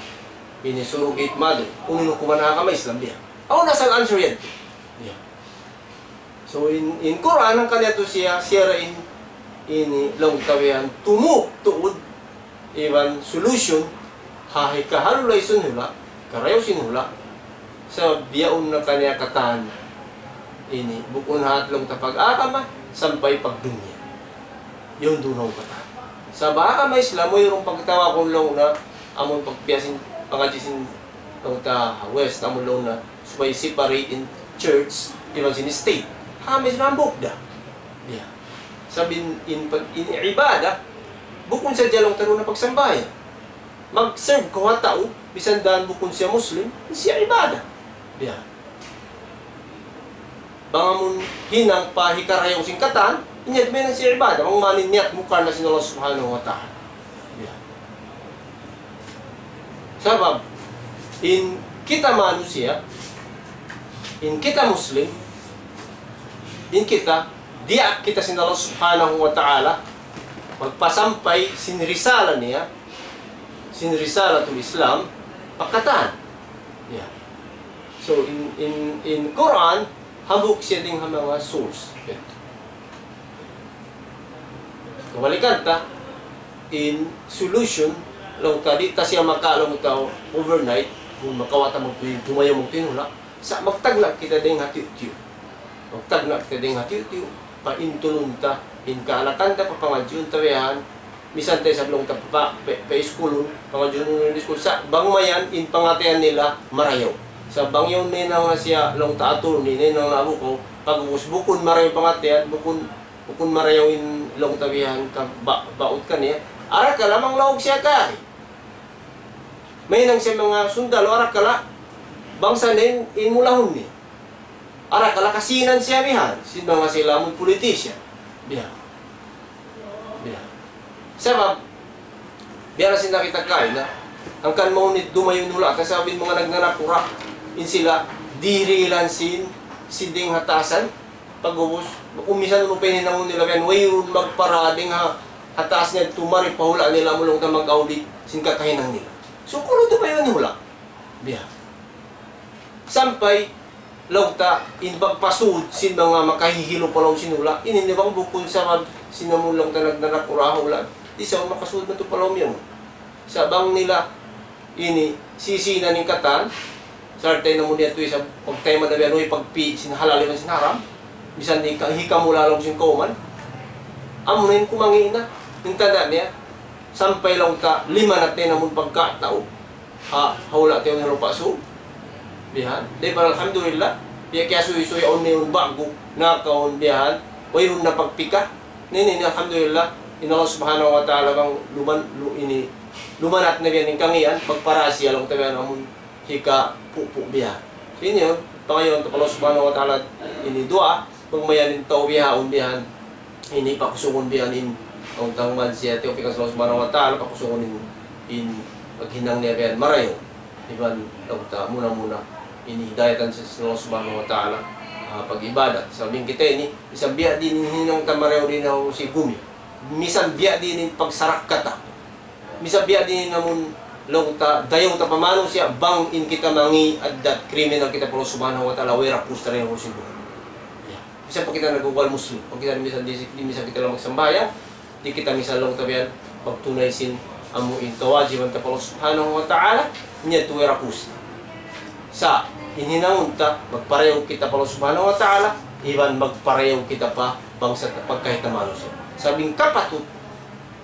ini surrogate mother. Unu in hukuman ha agama Islam biya'? Awn asal answer yan. Biya'. So, in, in Qur'an, hangkan yadtu siya, siya ra in, ini laung ta biya' yan, tumup tuud, iban solution, ha hikahalulay sin hula', karayaw sin hula', sa' biyaun na kaniya katan, ini, bukun ha laung ta pag-agama, sampay pagdunya. Yaun duun na katan. Sa' ha agama Islam, wayruun pagtawagun laung niya, amun pagbiya' sin, pangadji' sin, laung ta, West, amun laung niya, subay separate in church, iban sin state. Ha, may hambuuk da. Biya'. Sabab in, in, pag, in ibadah, bukun sadja laung ta duun na pagsambahayang. Mag-serve kaw ha tau, misan da bukun siya Muslim, siya ibadah. Biya'. Bang amun hinang pa hikarayaw sin katan, in yan mayan siya ibadah, bang man in niyat mu karna' sin Allah Subhanahu wa Ta'ala. Biya'. Sabab, in kita manusiya', in kita Muslim, in kita, diyaak kita sin Allah Subhanahu wa Ta'ala, magpasampay sin risala niya, sin risalatul Islam, pa katan. Ya. So, in, in, in Qur'an, hambuuk siya dayn ha manga source. Kabalikan ta, in solution, Laung ta di' ta siya maka laung ta overnight, kung makawa' ta magtuy-, dumayaw magtuy in hula'. Sa' magtagna' kita dayng ha tiyu'-tiyu'. Magtagna' kita dayng ha tiyu'-tiyu', paintulun ta, in kaanakan ta, papangadjiun ta bihan, misan ta isab laung ta pa, pa, pa iskulun, pangadjiun in iskul. Sa' bang mayan, in pangatayan nila, marayaw. Sa' bang yaun nahinang na siya, laung ta attorney, nahinang na abukaw, pag'ubus bukun marayaw pangatayan, bukun, bukun marayaw in laung ta bihan, ka, ba, baut kaniya. Arakala' manglaug siya kari. Mahinang siya manga sundalu, arakala' bangsa niya in, in mulahun niya. Arakala' kasinan siya bihan, sin manga sila amun politician. Bihan. Bihan. Sabab, biya' na sin nakita' kaina, hangkan mahunit dumayaw in hula', sabab in manga nagnanakura', in sila, dirilan sin, sin dayng ha taasan, pag'ubus, kung misan unu pa in hinangun nila bihan, wayruun magpara dayng ha, ha taas niya tumari pa hula' nila amun laung ta mag-audit, sin kakahinang nila. So, kunu' dumayaw in hula'. Bihan. Sampay, laung ta, in pagpasud sin manga makahihilu pa lawm sin hula', ini na bang bukun sabab sin amun laung ta nag-, nagnarakura' ha hula', di' sa makasud na tu pa lawm yan. Sa' bang nila, ini, sisinan in katan, sarta' in amun yadtu isab, pagtayman na biya' nuy pagpi' sin halal iban sin haram, misan di' ka, hikamula lawm sin kawman, amun in kumangi' na, in tanda' niya, sampay laung ta, limanat na in amun pagkatau, ha, ha hula' ta yaun ha Lupa' Sug. Bihan. Di' ba, alhamdulillah. Biya' kiyasuy-suy awn na yaun ba'gu, nakaun bihan. Wayruun na pagpika. Ini, ini, alhamdulillah. In Allah Subhanahu wa Ta'ala bang luman, lu, ini, lumanat na bihan in kangīan, pagparasi alam ta bihan amun hika pupu' bihan. Ini yaun, pangayuan ta pa Allah Subhanahu wa Ta'ala ini duwaa, bang mayan in tau bihaun bihan. Ini pakusungun biya' ini, laung ta man siya tiyawfikan sin Allah Subhanahu wa Ta'ala, pakusungun in, in paghinang niya biya' marayaw. Iban laung ta muna-muna, ini hidayatan sin Allah Subhanahu wa Ta'ala, ah, pag-ibadat. Sabab in kita ini, misan biya' diin in hinang ta marayaw dayn ha sin gumi. Misan biya' diin in pagsarakka ta. Misan biya' diin in amun laung ta, dayaw ta pa manusiya', bang in kita mangi' addat, kriminal kita pa Allah Subhanahu wa Ta'ala, way ra pus ta dayn ha sin gumi. Ya. Misan pa kita nagugwal Muslim, pag kita misan di, di misan kita lang magsambahayang, di' kita misan laung ta biya' yan, pagtunay sin amu in kawajiban ta pa Allah Subhanahu wa Ta'ala, niya tuwi rakus. Sa', in hinangun ta, magparayaw kita pa Allah Subhanahu wa Ta'ala, iban magparayaw kita pa bangsa ta pagkahi ta manusiya'. Sabab in kapatut,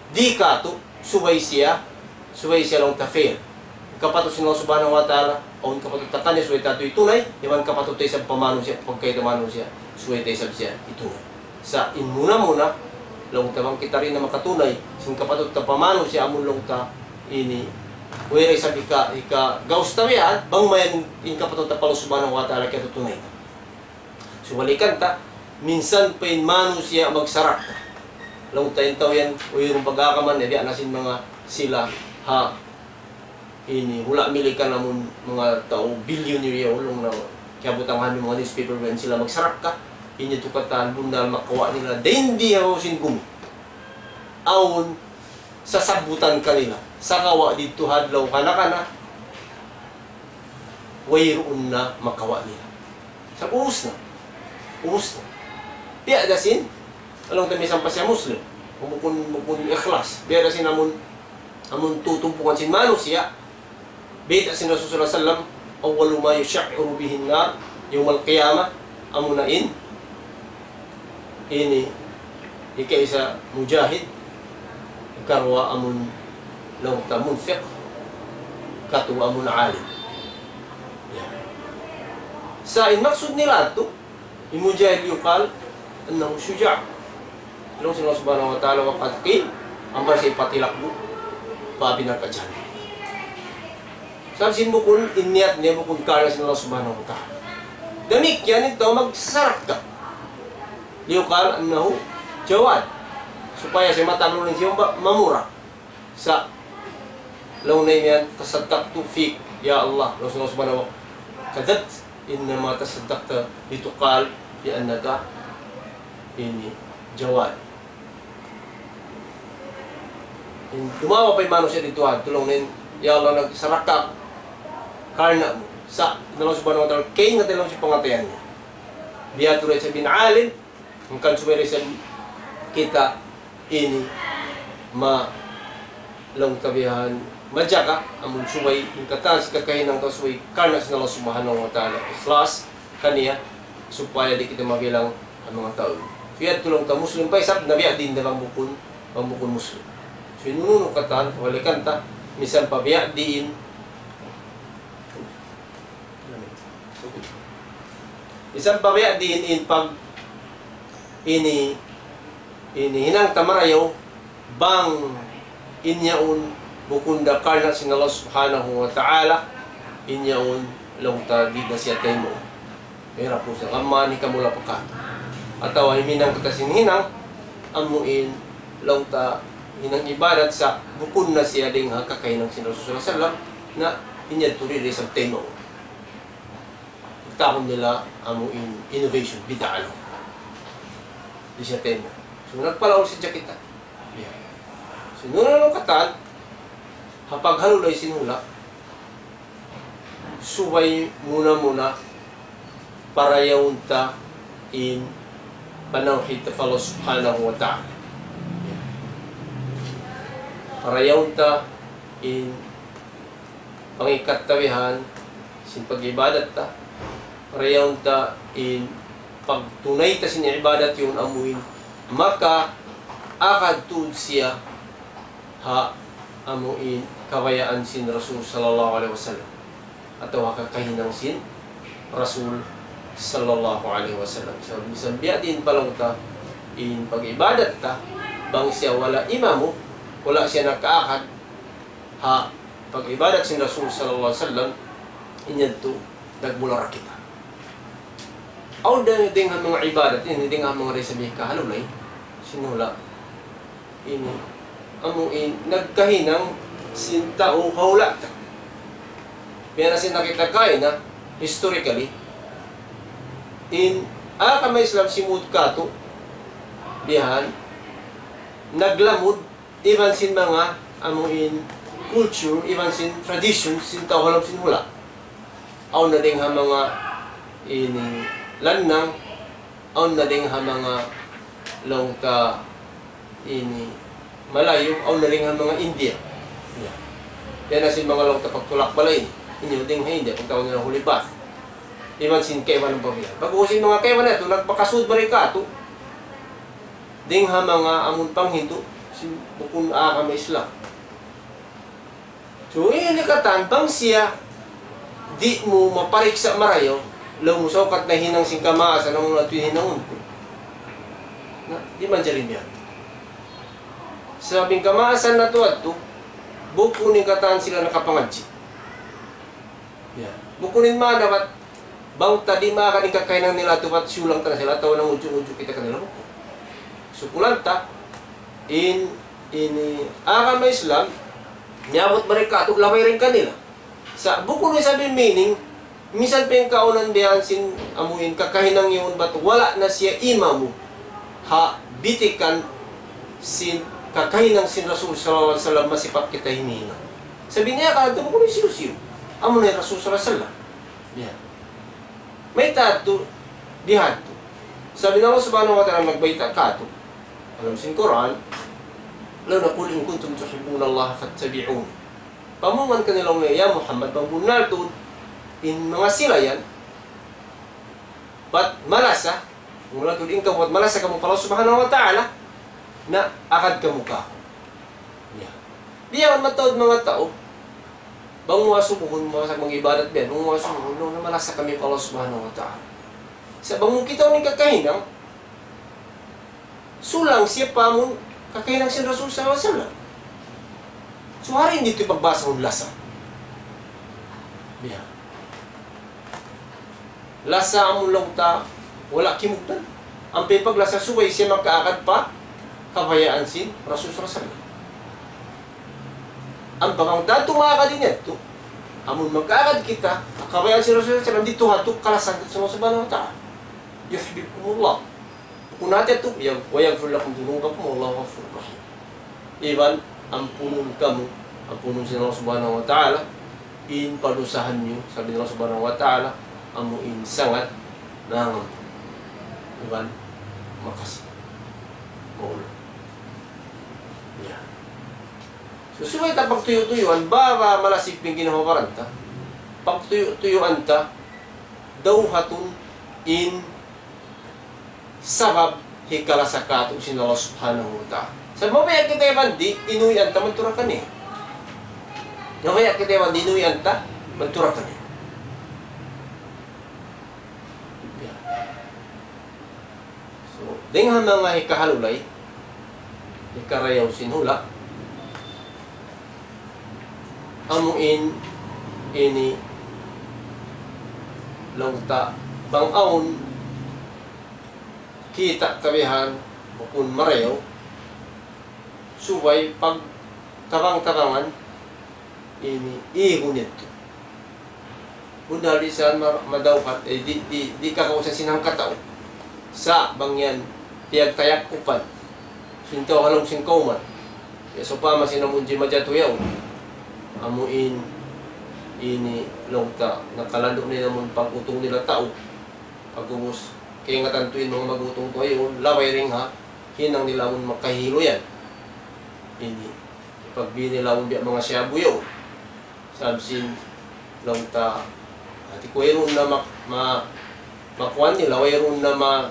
di' katu', subay siya, subay siya laung ta fair. Kapatut sin Allah Subhanahu wa Ta'ala, awn kapatut ta kaniya subay ta tuud hitunay, iban kapatut ta isab pa manusiya', pagkahi ta manusiya', subay ta isab siya hitunay. Sa' in muna-muna, laung ta bang kita di' na makatunay, sin kapatut ta pa manusiya' amun laung ta, ini, way ra isab hika, hika, gaus ta biya' yan, bang mayan in kapatut ta pa Allah Subhanahu wa Ta'ala kiyatutunay ta. Subalikan ta, minsan pa in manusiya' magsarakka. Laung ta in tau yan, wayruun pag-aagaman, ya, biya' na sin manga sila, ha, ini, hula' Milikan amun manga tau billionaire ya, laung na, kiyabutangan in manga newspaper yan sila magsarakka, ini tu katan bunnal makawa' nila, dayn di ha sin gumi. Awn, sasabutan kanila. Sagawa' didtu ha adlaw kana-kana, wayruun na makawa' nila. Sa' ubus na. Ubus na. Biya' da sin, laung ta misan pa siya Muslim. Bukun, bukun ikhlas. Biya' da sin amun, amun tutumpukan sin manusiya'. Bayta' sin Rasul sallallahu alayhi wasallam, أول ما يشعر به النار يوم القيامة, amuna in, ini, ikaisa mujahid, ikaruwa amun laung ta munfiq, ikatu amun alim. Ya. Sa' in maksud nila tu, in mujahid يقال أنه شجاع. Laung sin Allah Subhanahu wa Ta'ala, وقد قيل, ampa siya patilak bu, pa api narka' jahannam. Sabab sin bukun, in niyat niya bukun karna' sin Allah Subhanahu wa Ta'ala. Damikkiyan in tau magsarakka. ليقال أنه جواد. Supaya siya mataglunin siya ba, mamura. Sa' laung niya yan, تصدقت فيك يا الله. Laung sin Allah Subhanahu wa Ta'ala, كذبت. إنما تصدقت لتقال بأنك ini جواد. In, dumawa pa in manusiya' didtu ha, laung niya, "Ya Allah, nagsarakka aku karna' mu." Sa', in Allah Subhanahu wa Ta'ala, kaingatan laung sin pangatayan niya. Biya' tuud da isab in alim, hangkan subay da isab kita ini ma-, laung ta bihan, majaga, amun subay, in katan sin kakahinang tau subay, karna' sin Allah Subhanahu wa Ta'ala, ikhlas, kaniya, supaya di' kita mabilang in manga tau. Kaya tuud laung ta Muslim pa isab, na biya' diin da bang bukun, bang bukun Muslim. So, in unu-unu katan, balikan ta, misan pa biya' diin, misan pa biya' diin in pag ini, ini hinang ta marayaw, bang in yaun bukun da karna' sin Allah Subhanahu wa Ta'ala, in yaun laung ta di' da siya taymaun. Mayra' puas na kamu, mani kamu lapakat. Atawa himinang kita sin hinang, amu in laung ta hinang ibadat sa' bukun na siya dayn ha kakahinang sin Rasul sallallahu alayhi wasallam, na in yadtu di' da isab taymaun. Pagtawagun nila amu in innovation, bid'a laung. Di' siya taymaun. So, nagpalaul sadja kita. Yeah. So, nunu-nunu katan, ha paghalulay sin hula', subay muna-muna parayawun ta in panawhid ta pa Allah Subhanahu wa Ta'ala. Yeah. Parayawun ta in pangikat ta bihan sin pag-ibadat ta. Parayawun ta in pagtunay ta sin ibadat yaun amu in makaagad tuud siya ha amu in kabayaan sin Rasul sallallahu alayhi wasallam. Atawa ha kakahinang sin Rasul sallallahu alayhi wasallam. So, misan biya' diin pa laung ta in pag-ibadat ta, bang siya wala' imamu, wala' siya nakaagad, ha pag-ibadat sin Rasul sallallahu alayhi wasallam, in yadtu, nagmula ra kita. Awn da dayn ha manga ibadat, ini dayn ha manga risa bihik kahalulay, sin hula'. Ini, amu in, nagkahinang sin tau ha hula' ta. Biya' na sin nakita' kaina, historically, in, agama Islam simud katu', bihan, naglamud, iban sin manga amu in culture, iban sin tradition sin tau ha lawm sin hula'. Awn na dayn ha manga ini lannang, awn na dayn ha manga laung ta ini Malayu, awn na dayn ha manga India. Ya. Yan na sin manga laung ta pagtulak balay. Inyo dayn ha India, pagtawagun nila holy bath. Iban sin kaibanan pa biya'. Pag-ubus sin manga kaibanan yadtu, nagpakasud mari katu'. Dayn ha manga amun panghindu', sin bukun agama Islam. So, ini katan, bang siya, di' mu mapariksa' marayaw, laung mu saukat na hinang sin kamaasan, amu na yadtu in hinangun ku. Na, di' manjari biya' yan. Sabab in kamaasan natu' yadtu, bukun in katan sila nakapangadji'. Ya. Bukun in maana bat, bang ta di' maagad in kakahinang nila yadtu bat siyulang ta na sila, atawa nangudju'-ngudju' kita kanila, bukun. Sukulan ta, in, ini, agama Islam, miyabut mari katu', labay dayn kanila. Sa' bukun isab in meaning, misan pa in kaawnan biya' sin amu in kakahinang yaun bat wala' na siya imamu ha bitikan sin kakahinang sin Rasul sallallahu alayhi wasallam masi pa kita hinihinang. Sabab niya katu' bukun hisiyu-siyu. Amu na in Rasul sallallahu alayhi wasallam. Yan. Mayta' yadtu, bihadtu. Sabab in Allah Subhanahu wa Ta'ala nagbayta' katu'. Ha lawm sin Qur'an, لَوْ قُلْ إِن كُنتُمْ تُحِبُّونَ اللَّهَ فَاتَّبِعُونِي. Pamungan kanila laung niya, ya Muhammad, bang bunnal tuud in manga sila yan, bat malasa, mula tuud in kamu bat malasa kamu pa Allah Subhanahu wa Ta'ala, na agad kamu kāku'. Ya. Biya' man mataud manga tau, bang mu asubuhun, mu asal mag-ibadat biya' yan, bang mu asubuhun, laung niya malasa kami pa Allah Subhanahu wa Ta'ala. Sa' bang mu kitaun in kakahinang, sulang siya pa amun kakahinang sin Rasul sallallahu alayhi wasallam. So, hari ini itu pagbasa mu lasa. Biya'. Lasa amun laung ta, wala' kimugdan. Ampa in paglasa subay siya makaagad pa kabayaan sin Rasul sallallahu alayhi wasallam. Ampa bang tantu maagad in yadtu, amun makaagad kita, kabayaan sin Rasul sallallahu alayhi wasallam, didtu ha yadtu kalasahan sin Allah Subhanahu wa Ta'ala. يحببكم الله. Bukun hati yadtu, ya, ويغفر لكم ذنوبكم والله غفور رحيم. Iban ampunun kamu, ampunun sin Allah Subhanahu wa Ta'ala, in padusahan niyu, sabab in Allah Subhanahu wa Ta'ala, amu in sangat nangampun. Iban makasi. Maulud. Ya. So, subay ta pagtuyu'-tuyuan, bang malasig in ginhawa-baran ta. Pagtuyu'-tuyuan ta, dawhatun in sabab hikalasa kātu' sin Allah Subhanahu wa Ta'ala. Sa' mabaya' kita iban di', inuyan ta mantura kaniya. Mabaya' kita iban di', inuyan ta mantura kaniya. So, dayn ha manga hikahalulay, hikarayaw sin hula', amu in ini laung ta bang awn kita' tabihan bukun marayaw, subay pagtabang-tabangan ini igun yadtu. Bundal di' sa ma-, madawhat, eh, di', di', di' kakausan sin hangkatau. Sa' bang yan, piyagtayakupan sin tau ha lawm sin kawman. Ya, sawpama sin amun jimajatu yaun. Amu in, ini laung ta, nakalandu' na in amun pag-utung nila tau. Pag'ubus, kaingatan tuud in manga mag-utung tuud yaun, labay dayn ha hinang nila amun makahilu yan. Ini, ipagbī nila amun biya' manga shabu yaun. Sabab sin laung ta, hāti ku wayruun na ma-, ma-, makuan nila, wayruun na ma-,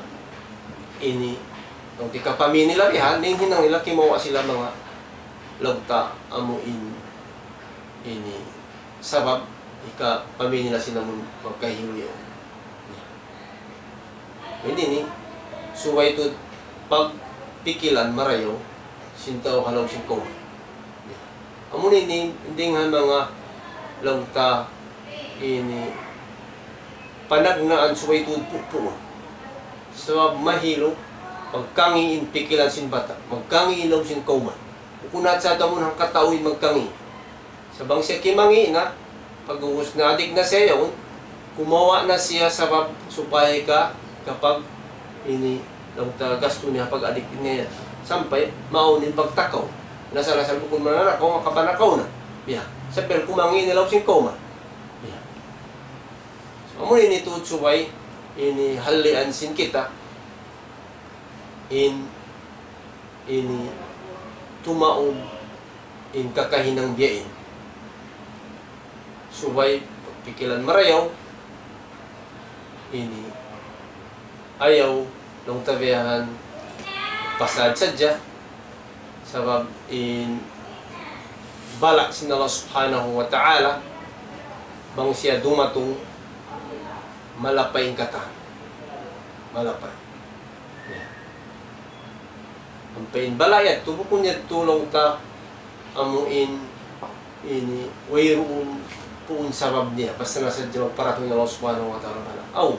ini, laung ta hikapamī nila bihan, in hinang nila kimawa' sila manga laung ta amu in, ini, sabab hikapamī nila sin amun makahilu yaun. Ini ini, subay tuud pagpikilan marayaw sin tau ha lawm sin kawman. Amu ini, dayn ha manga laung ta ini panagnaan subay tuud pupuun. Sabab mahilu, magkangi' in pikilan sin bata', magkangi' in lawm sin kawman. Bukun na sa' amun hangkatau in magkangi'. Sa' bang siya kimangi' na, pag'ubus na adik na siya yaun, kumawa' na siya sabab supaya ka-, kapag ini laung ta gastu niya pag-adik niya yan. Sampay, maawn in pagtakaw. Nasal-asal bukun mananakaw, makapanakaw na. Biya'. Sampay kumangi' na laung sin kawman. Biya'. So, amu ini tuud subay, ini halian sin kita, in, ini tumaud in kakahinang biya' ini. Subay pagpikilan marayaw, ini ayaw laung ta biyahan pasad sadja, sabab in bala' sin Allah Subhanahu wa Ta'ala, bang siya dumatung, malapay in katan. Malapay. Ya. Ampa in bala' yadtu, bukun yadtu laung ta amu in, ini, wayruun puun sabab niya, basta na sadja magparatung in Allah Subhanahu wa Ta'ala bala'. Aw.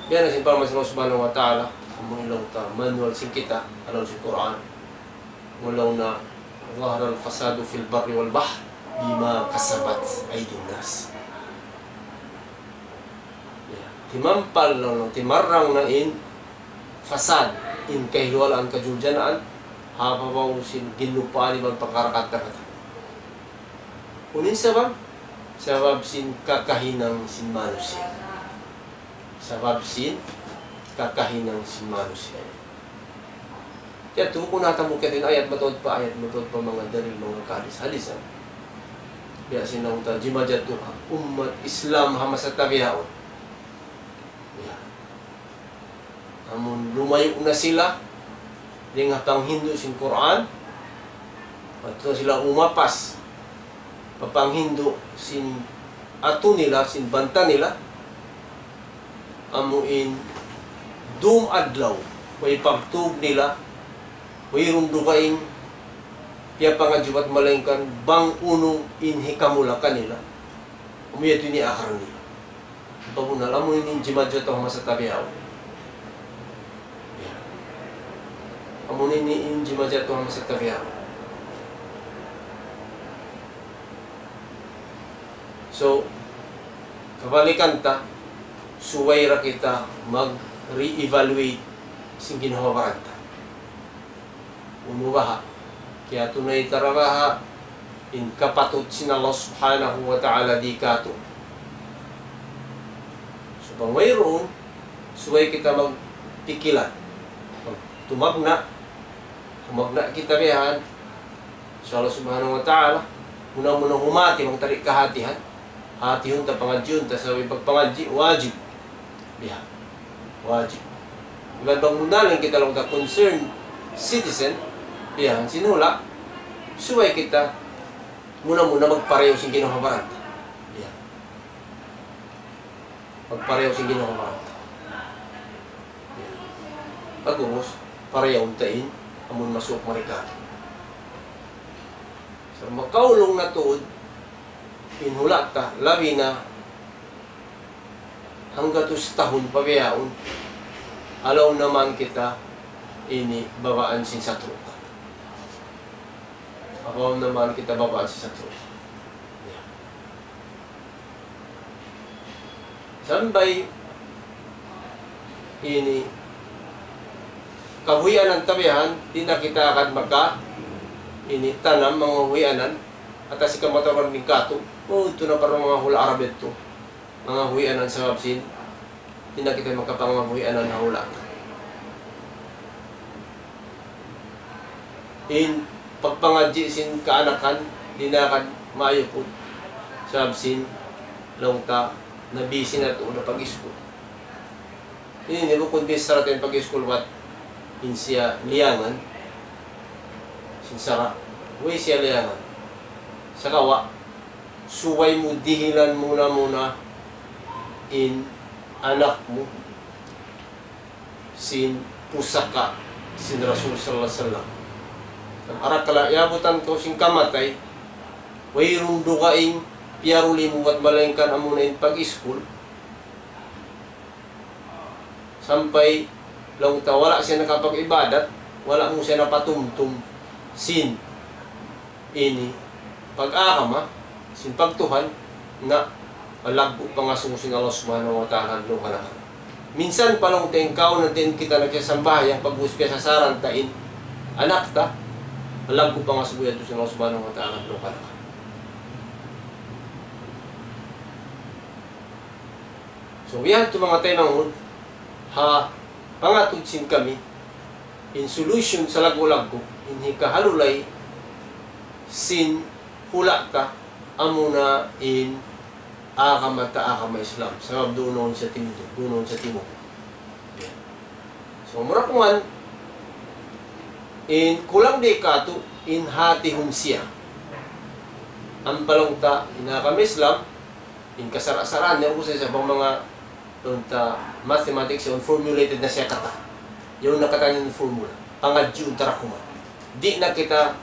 Biya' na sin parman sin Allah Subhanahu wa Ta'ala, amu in laung ta, manual sin kita, ha lawm sin Qur'an. Laung niya, ظهر الفساد في البر والبحر بما كسبت أيدي الناس. Ya, timampal na, timarang na in fasad, in kahiluwalaan, kajuljanaan, ha babaw sin ginlupaan iban pakara kata-kata. Unu in sabab? Sabab sin kakahinang sin manusiya'. Sabab sin kakahinang sin manusiya'. Kaya tuud kunu' natamu' kita in ayat mataud pa ayat, mataud pa manga dalil, manga kahadis-hadisan. Biya' sin laung ta jimajatu ha ummat Islam ha masa tabihaun. Ya. Amun lumayu' na sila, dayn ha panghindu' sin Qur'an, atawa sila umapas pa panghindu' sin atu nila, sin banta nila, amu in dum adlaw, way pagtug nila, wayruun dugaing piyapangadji' bat malaingkan bang unu in hikamula kanila, amu yadtu in iyaakal nila. Pabunal, amu ini in jimajatu ha masa tabihaun. Ya. Amu ini in jimajatu ha masa tabihaun. So, kabalikan ta, subay da kita mag-re-evaluate sin ginhawa-baran ta. Unu baha', kiyatunay ta ra baha' in kapatut sin Allah Subhanahu wa Ta'ala di kātu'. So, bang wayruun, subay kita magpikilan. Tumagna', Magna kita bihan. Insya Allah Subhanahu wa Ta'ala. Muna-muna humati, bang ta di' kahatihan. Hatihun ta, pangadjiun ta, sabab in pagpangadji', wajib. Bihan. Wajib. Iban bang muna lang kita laung ta concerned citizen, bihan, sin hula', subay kita muna-muna magparayaw sin ginhawa-baran ta. Bihan. Magparayaw sin ginhawa-baran ta. Pag'ubus, parayawun ta in amun masuuk mari katu'. Sa' makaulung na tuud in hula' ta, labi na hanggatus tahun pa bihaun, alaw na man kita ini babaan sin satru'. Apaw na man kita babaan sin satru'. Sampay ini kabuhianan ta bihan, di' na kita agad maka ini tanam manga buhianan, atas ikaw matawaran din katu', oh, itu na parang manga hula' Arab itu. Manga buhianan sabab sin, di' na kita makapangabuhianan ha hula'. In pagpangadji' sin kaanakan, di' na kan maayuput. Sabab sin, laung ta, nabisi na tuud na pag-iskul. Ini, ini bukun bichara ta in pag-iskul, bat in siya liyangan sin sara'. Way siya liyangan. Sagawa', subay mu dihilan muna-muna in anak mu sin pusaka' sin Rasul sallallahu alayhi wasallam. Arakala' yabutan kaw sin kamatay, wayruun dugaing piyaruli mu bat malaingkan amuna in pag-iskul. Sampay laung ta wala' siya nakapag-ibadat, wala' mu siya napatumtum sin ini pag-agama, sin pagtuhan, na malaggu' pangasubu sin Allah Subhanahu wa Ta'ala ha dunya kanakan. Minsan pa laung ta in kaw na din kita nagsasambahayang pag-ubus piyasasaran ta in anak ta, malaggu' pangasubu yadtu sin Allah Subhanahu wa Ta'ala ha dunya kanakan. So, biya' ha yan manga taymanghud, ha pangatud sin kami, in solution sa laggu'-laggu', in hikahalulay sin hula' ta, amuna in agama ta, agama Islam. Sabab duun na sa timindug, duun na sa timindug. So, mura kuman, in kulang di' katu', in hatihun siya. Ampa laung ta, in agama Islam, in kasara'-saraan niya, ubus sa bang manga, laung ta, mathematics, yaun formulated na siya katan. Yaun na katan in formula. Pangadjiun ta da kuman. Di' na kita,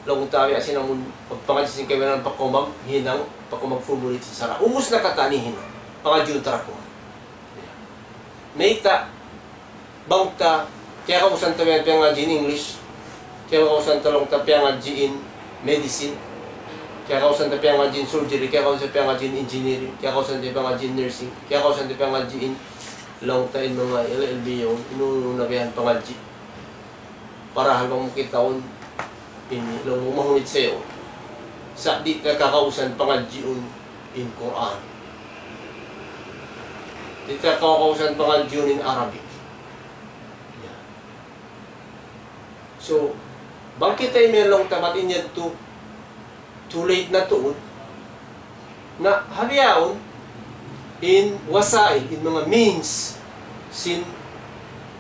laung ta, ya, sin amun pagpangadji' sin kaibanan pa kaw maghinang, pa kaw mag-formulate sin sara'. Ubus na katan in hinang. Pangadjiun ta da kuman. Mayta', bang ta, kiyakausan ta biya' piyangadji' in English, kiyakausan ta laung ta piyangadji' in medicine, kiyakausan ta piyangadji' in surgery, kiyakausan ta piyangadji' in engineering, kiyakausan ta piyangadji' in nursing, kiyakausan ta piyangadji' in laung ta in manga L L B yaun, unu-unu na biya' yan pangadji'. Parahal bang mu kitaun, ini, laung mu mahunit sa yaun. Sa' di' ta kakausan pangadjiun in Qur'an. Di' ta kakausan pangadjiun in Arabic. Ya. So, bang kita ini laung ta bat in yadtu, too late na tuud. Na ha bihaun, in wasail, in manga means, sin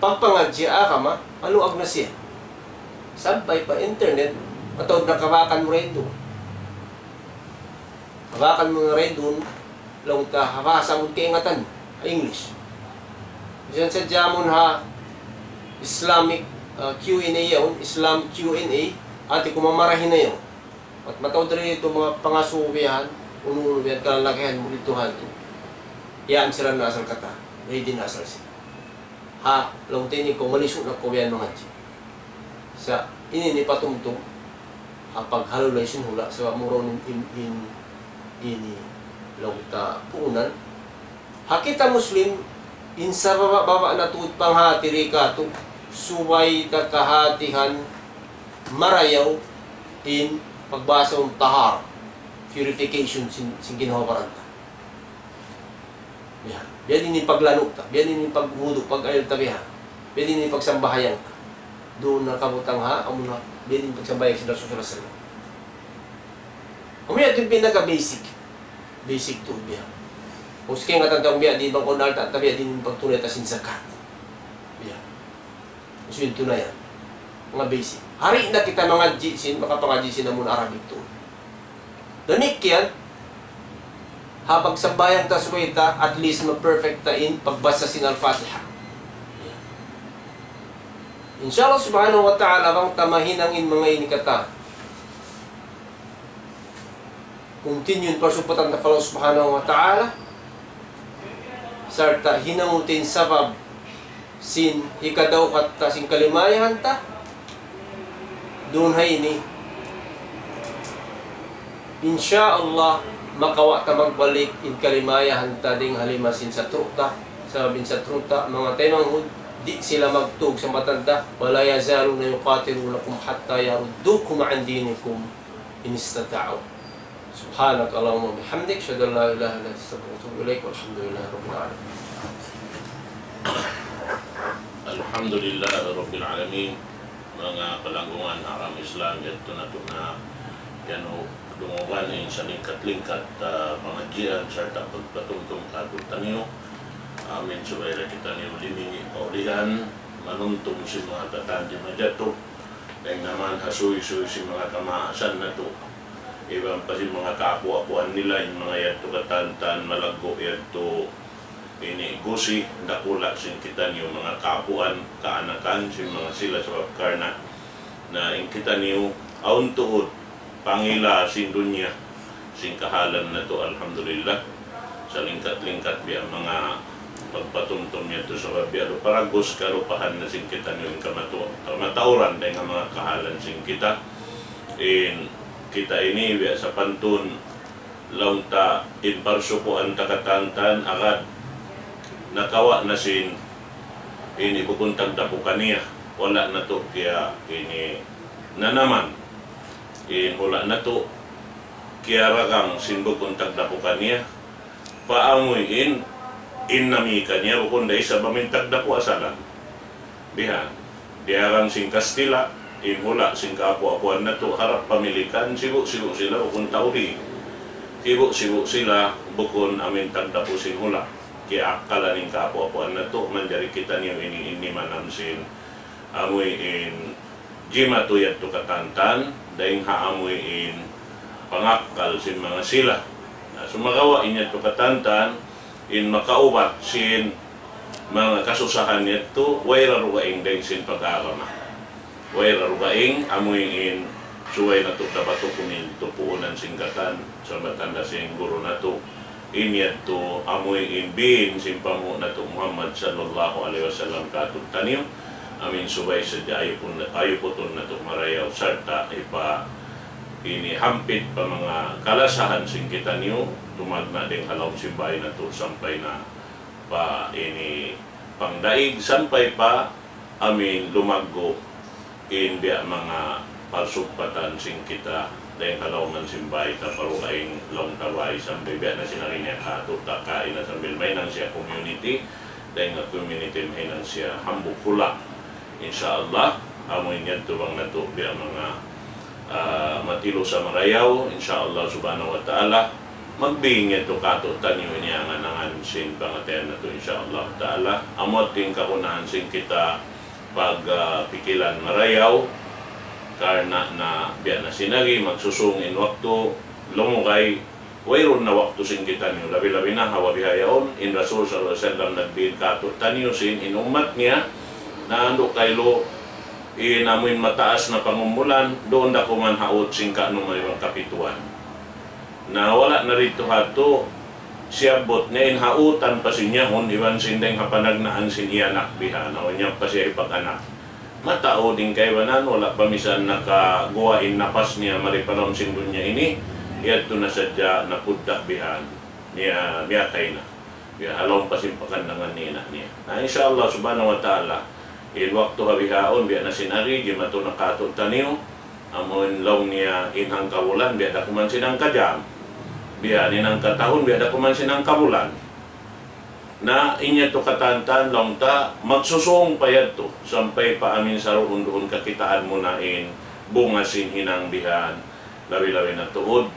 pagpangadji' agama, maluag na siya. Sampay pa internet, mataud na kabakan mu ra duun. Kabakan mu ra duun, laung ta ha bahasa mu kaingatan, ha English. Misan sadja amun ha Islamic, ah, Q and A yaun, Islam Q and A, hati ku mamarahi na yaun. Bat mataud da isab manga pangasubu biya' yan, unu-unu biya' yan kalalagihan mu didtu ha yadtu. Yan sila na asal katan, ready na asal sila. Ha, laung ta ini kaw malisu' na kaw biya' yan mangadji'. Sa' ini in patumtum, ha paghalulay sin hula', sabab mura in, in, in, ini, laung ta puunan. Ha kita Muslim, in sababa'-baba' na tuud panghati di' katu', subay ta kahatihan marayaw in pagbahasa tahara, purification sin, sin ginhawa-baran ta. Biya', biya' diin in paglanu' ta, biya' diin in pagwudu', pag-ayil ta biya', biya' diin in pagsambahayang ta. Duun na kabutang ha, amu na, biya' diin pagsambahayang sin Rasul sallallahu alayhi wasallam. Amu yan in pinaka basic. Basic tuud biya'. Kung sa' kaya nga tantang biya' diin bang kunal ta, ta biya' diin pagtunay ta sin zakat. Biya'. Usul tuud yan. Manga basic. Hari na kita mangadji' sin, makapangadji' sin amun Arabic tuud. Damikkiyan, ha pagsambahayang ta subay ta, at least ma-perfect ta in pagbasa sin Al-Fatiha. Insha Allah subhanahu wa ta'ala, bang ta mahinang in manga ini katan. Continue in parsugpatan ta pa Allah subhanahu wa ta'ala. Sarta' hinangun ta in sabab sin hikadawhat ta sin kalimayahan ta. Duun ha ini. Insha Allah, makawa' ta magbalik in kalimayahan ta dayn ha lima sin satru' ta. Sabab in satru' ta, manga taymanghud, di' sila magtug sa matan ta. ولا يزالون يقاتلونكم حتى يردوكم عن دينكم إن استطاعوا. سبحانك اللهم وبحمدك، أشهد أن لا إله إلا أنت، أستغفرك وأتوب إليك، والحمد لله رب العالمين. الحمد لله رب العالمين. Manga palanggungan ha agama Islam, yadtu natu' na yan dungugan in salingkat-lingkat, ah, pangadjian sarta' pagpatumtum kātu'niyu. Amin, subay da kitaniyu limingi' paulihan, manumtum sin manga katan di' majatu. Dayn naman ha suysuy sin manga kamaasan natu'. Iban pa sin manga kaapu'-apuan nila, in manga yadtu katantan malaggu' yadtu ini gusi, dakula' sin kitaniyu manga kaapuan, kaanakan sin manga sila sabab karna' na in kitaniyu awn tuud pangila sin dunya, sin kahalan natu', alhamdulillah. Salingkat-lingkat biya' manga pagpatumtum yadtu sabab biya' da paragus kalupahan na sin kitaniyu in kamatu-, kamatauran dayn ha manga kahalan sin kita. In kita ini biya' sapantun laung ta in parsukuan ta katantan agad nakawa' na sin ini bukun tagdapu kaniya. Wala' natu' kiya ini nanaman. In hula' natu' kiyaragang sin bukun tagdapu kaniya. Pa amuin in nami kaniya bukun da isab amuin tagdapu asalan. Bihan, diyagang sin Kastila', in hula' sin kaapu'-apuan natu' harap pamilikan, sibu'-sibu' sila bukun tau di. Sibu'-sibu' sila bukun amuin tagdapu sin hula'. Kiyaakkalan in kaapu'-apuan natu', manjari kitaniyu ini in nimanam sin amuin jimatu yadtu katantan, dayn ha amuin pangakkal sin manga sila. Na, sumagawa' in yadtu katantan, in makaubat sin manga kasusahan yadtu, way ra dugaing dayn sin pag-agama. Way ra dugaing, amuin subay natu' dapat hukumin tupuunan sin katan, sabab tanda sin guru natu'. In yadtu amuin biin sin panghu' natu' Muhammad sallallahu alayhi wasallam kātu'niyu. Amin subay sadja ayupun, ayuputun natu' marayaw sarta' hipa ini hampit pa manga kalasahan sin kitaniyu, tumagna' dayn ha lawm sin bāy natu' sampay na pa ini pangdaig, sampay pa amin lumaggu' in biya' manga parsugpatan sin kita dayn ha lawm sin bāy ta pa dugaing lawm ta bāy sampay biya' na sin ari niya kātu' ta kaina sambil mahinang siya community, dayn ha community mahinang siya hambuuk hula'. Insya Allah, amuin yadtu bang natu' biya' manga, ah, matilu sa marayaw, insya Allah subhanahu wa ta'ala, magbing yadtu kātu'niyu ini angan-angan sin pangatayan natu', insya Allah ta'ala. Amu yadtu in kagunahan sin kita pag, ah, pikilan marayaw, karna' na biya' na sin agi, magsusung in waktu, lumugay, wayruun na waktu sin kitaniyu, labi-labi na ha bihaun, in Rasul sallallahu alayhi wasallam nagbin kātu'niyu sin in ummat niya, na andu' kailu, in amuin mataas na pangumulan, duun da kuman ha ut sin kaanum iban kapituan. Na wala' na didtu ha yadtu, siyabbut niya in ha utan pa sin yahun, iban sin dayng ha panagnaan sin iyanak biha, na wala' niya pa siya ipag-anak. Mataud in kaibanan, wala' pa misan nakaguwa' in napas niya mari pa lawm sin dunya ini, yadtu na sadja napudda' bihan, niya miyatay na. Biya' ha lawm pa sin pakandangan ni ina' niya. Na, insya Allah subhanahu wa ta'ala, in waktu ha bihaun, biya' na sin ari, jimatu na kātu'niyu, amun laung niya in hangkabulan, biya' da kuman sin hangkajam. Biya' in hangkatahun, biya' da kuman sin hangkabulan. Na in yadtu katan-katan laung ta, magsusūng pa yadtu, sampay pa amin saruun-duun kakitaan mu na in bunga sin hinang bihan, labi-labi na tuud,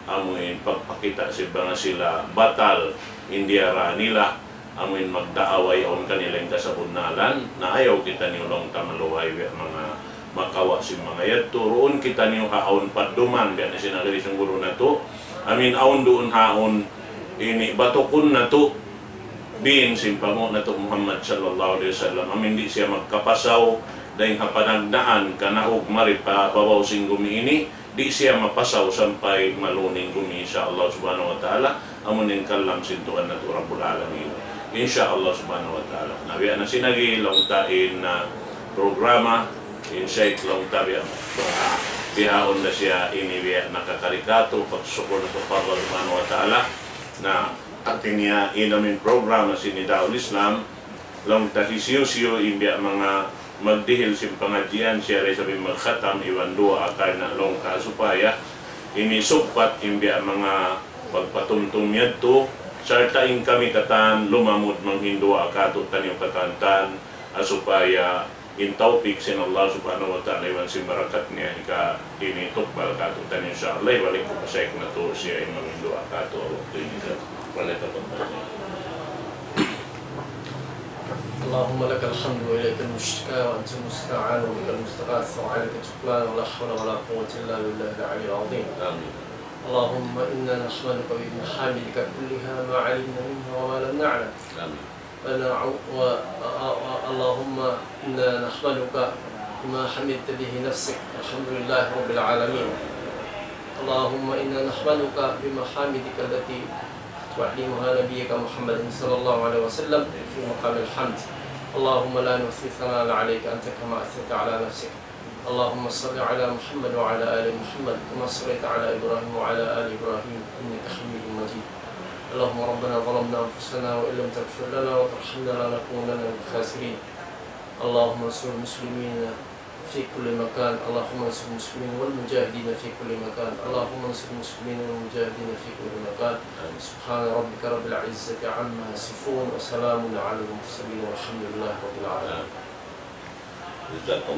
amuin pagpakita' sin manga sila batal in diyara nila, amuin magdaawa yaun kanila in kasabunnalan, na ayaw kitaniyu laung ta maluhay biya' manga makawa' sin manga yadtu, duun kitaniyu ha awn padduman, biya' na sin nagari sin guru natu', amuin awn duun ha awn ini batukun natu', bin sin panghu' natu' Muhammad sallallahu alayhi wasallam, amuin di' siya magkapasaw, dayn ha panagnaan kanaug mari pa babaw sin gumi ini, di' siya mapasaw sampay maluning gumi, insya Allah subhanahu wa ta'ala, amuin kalam sin Tuhan natu' Rabbul Alamin. Insya Allah subhanahu wa ta'ala. Na biya' na sin agi laung ta in, ah, programa, in Sheikh laung ta biya', ah, bihaun na siya ini biya' nakakari katu', pagsukul natu' pa Allah subhanahu wa ta'ala. Na hati niya in amin programa sin Nidaul Islam, laung ta hisiyu-siyu in biya' manga magdihil sin pangadjian, siya da isab in magkhatam iban duwaa karna' laung ta supaya ini sugpat in biya' manga pagpatumtum yadtu, sarta' in kami katan lumamud manghinduwaa katu'taniyu katan-katan, ha supaya in tawpik sin Allah subhanahu wa ta'ala iban sin barakat niya hika ini tukbal katu'taniyu, insya Allah, ibalik ku pa Sheikh natu' siya in manghinduwaa katu' ha waktu ini. Wala ka pa. اللهم لك الحمد وإليك المشتكى وأنت المستعان وبك المستغاث وعليك التكلان ولا حول ولا قوة إلا بالله العلي العظيم. آمين. اللهم إنا نحمدك بمحامدك كلها ما علمنا منها وما لم نعلم. آمين. ونعو-، و-، و-، و-، اللهم إنا نحمدك بما حمدت به نفسك. الحمد لله رب العالمين. اللهم إنا نحمدك بمحامدك التي تعلمها نبيك محمد صلى الله عليه وسلم في مقام الحمد. اللهم لا نحصي ثناء عليك أنت كما أثنيت على نفسك. اللهم صل على محمد وعلى آل محمد كما صليت على إبراهيم وعلى آل إبراهيم إنك حميد مجيد. اللهم ربنا ظلمنا أنفسنا وإن لم تغفر لنا وترحمنا لنكونن من الخاسرين. اللهم انصر المسلمين في كل مكان. اللهم انصر المسلمين والمجاهدين في كل مكان. اللهم انصر المسلمين والمجاهدين في كل مكان. سبحان ربك رب العزة عما يصفون وسلام على المرسلين والحمد لله رب العالمين. جزاكم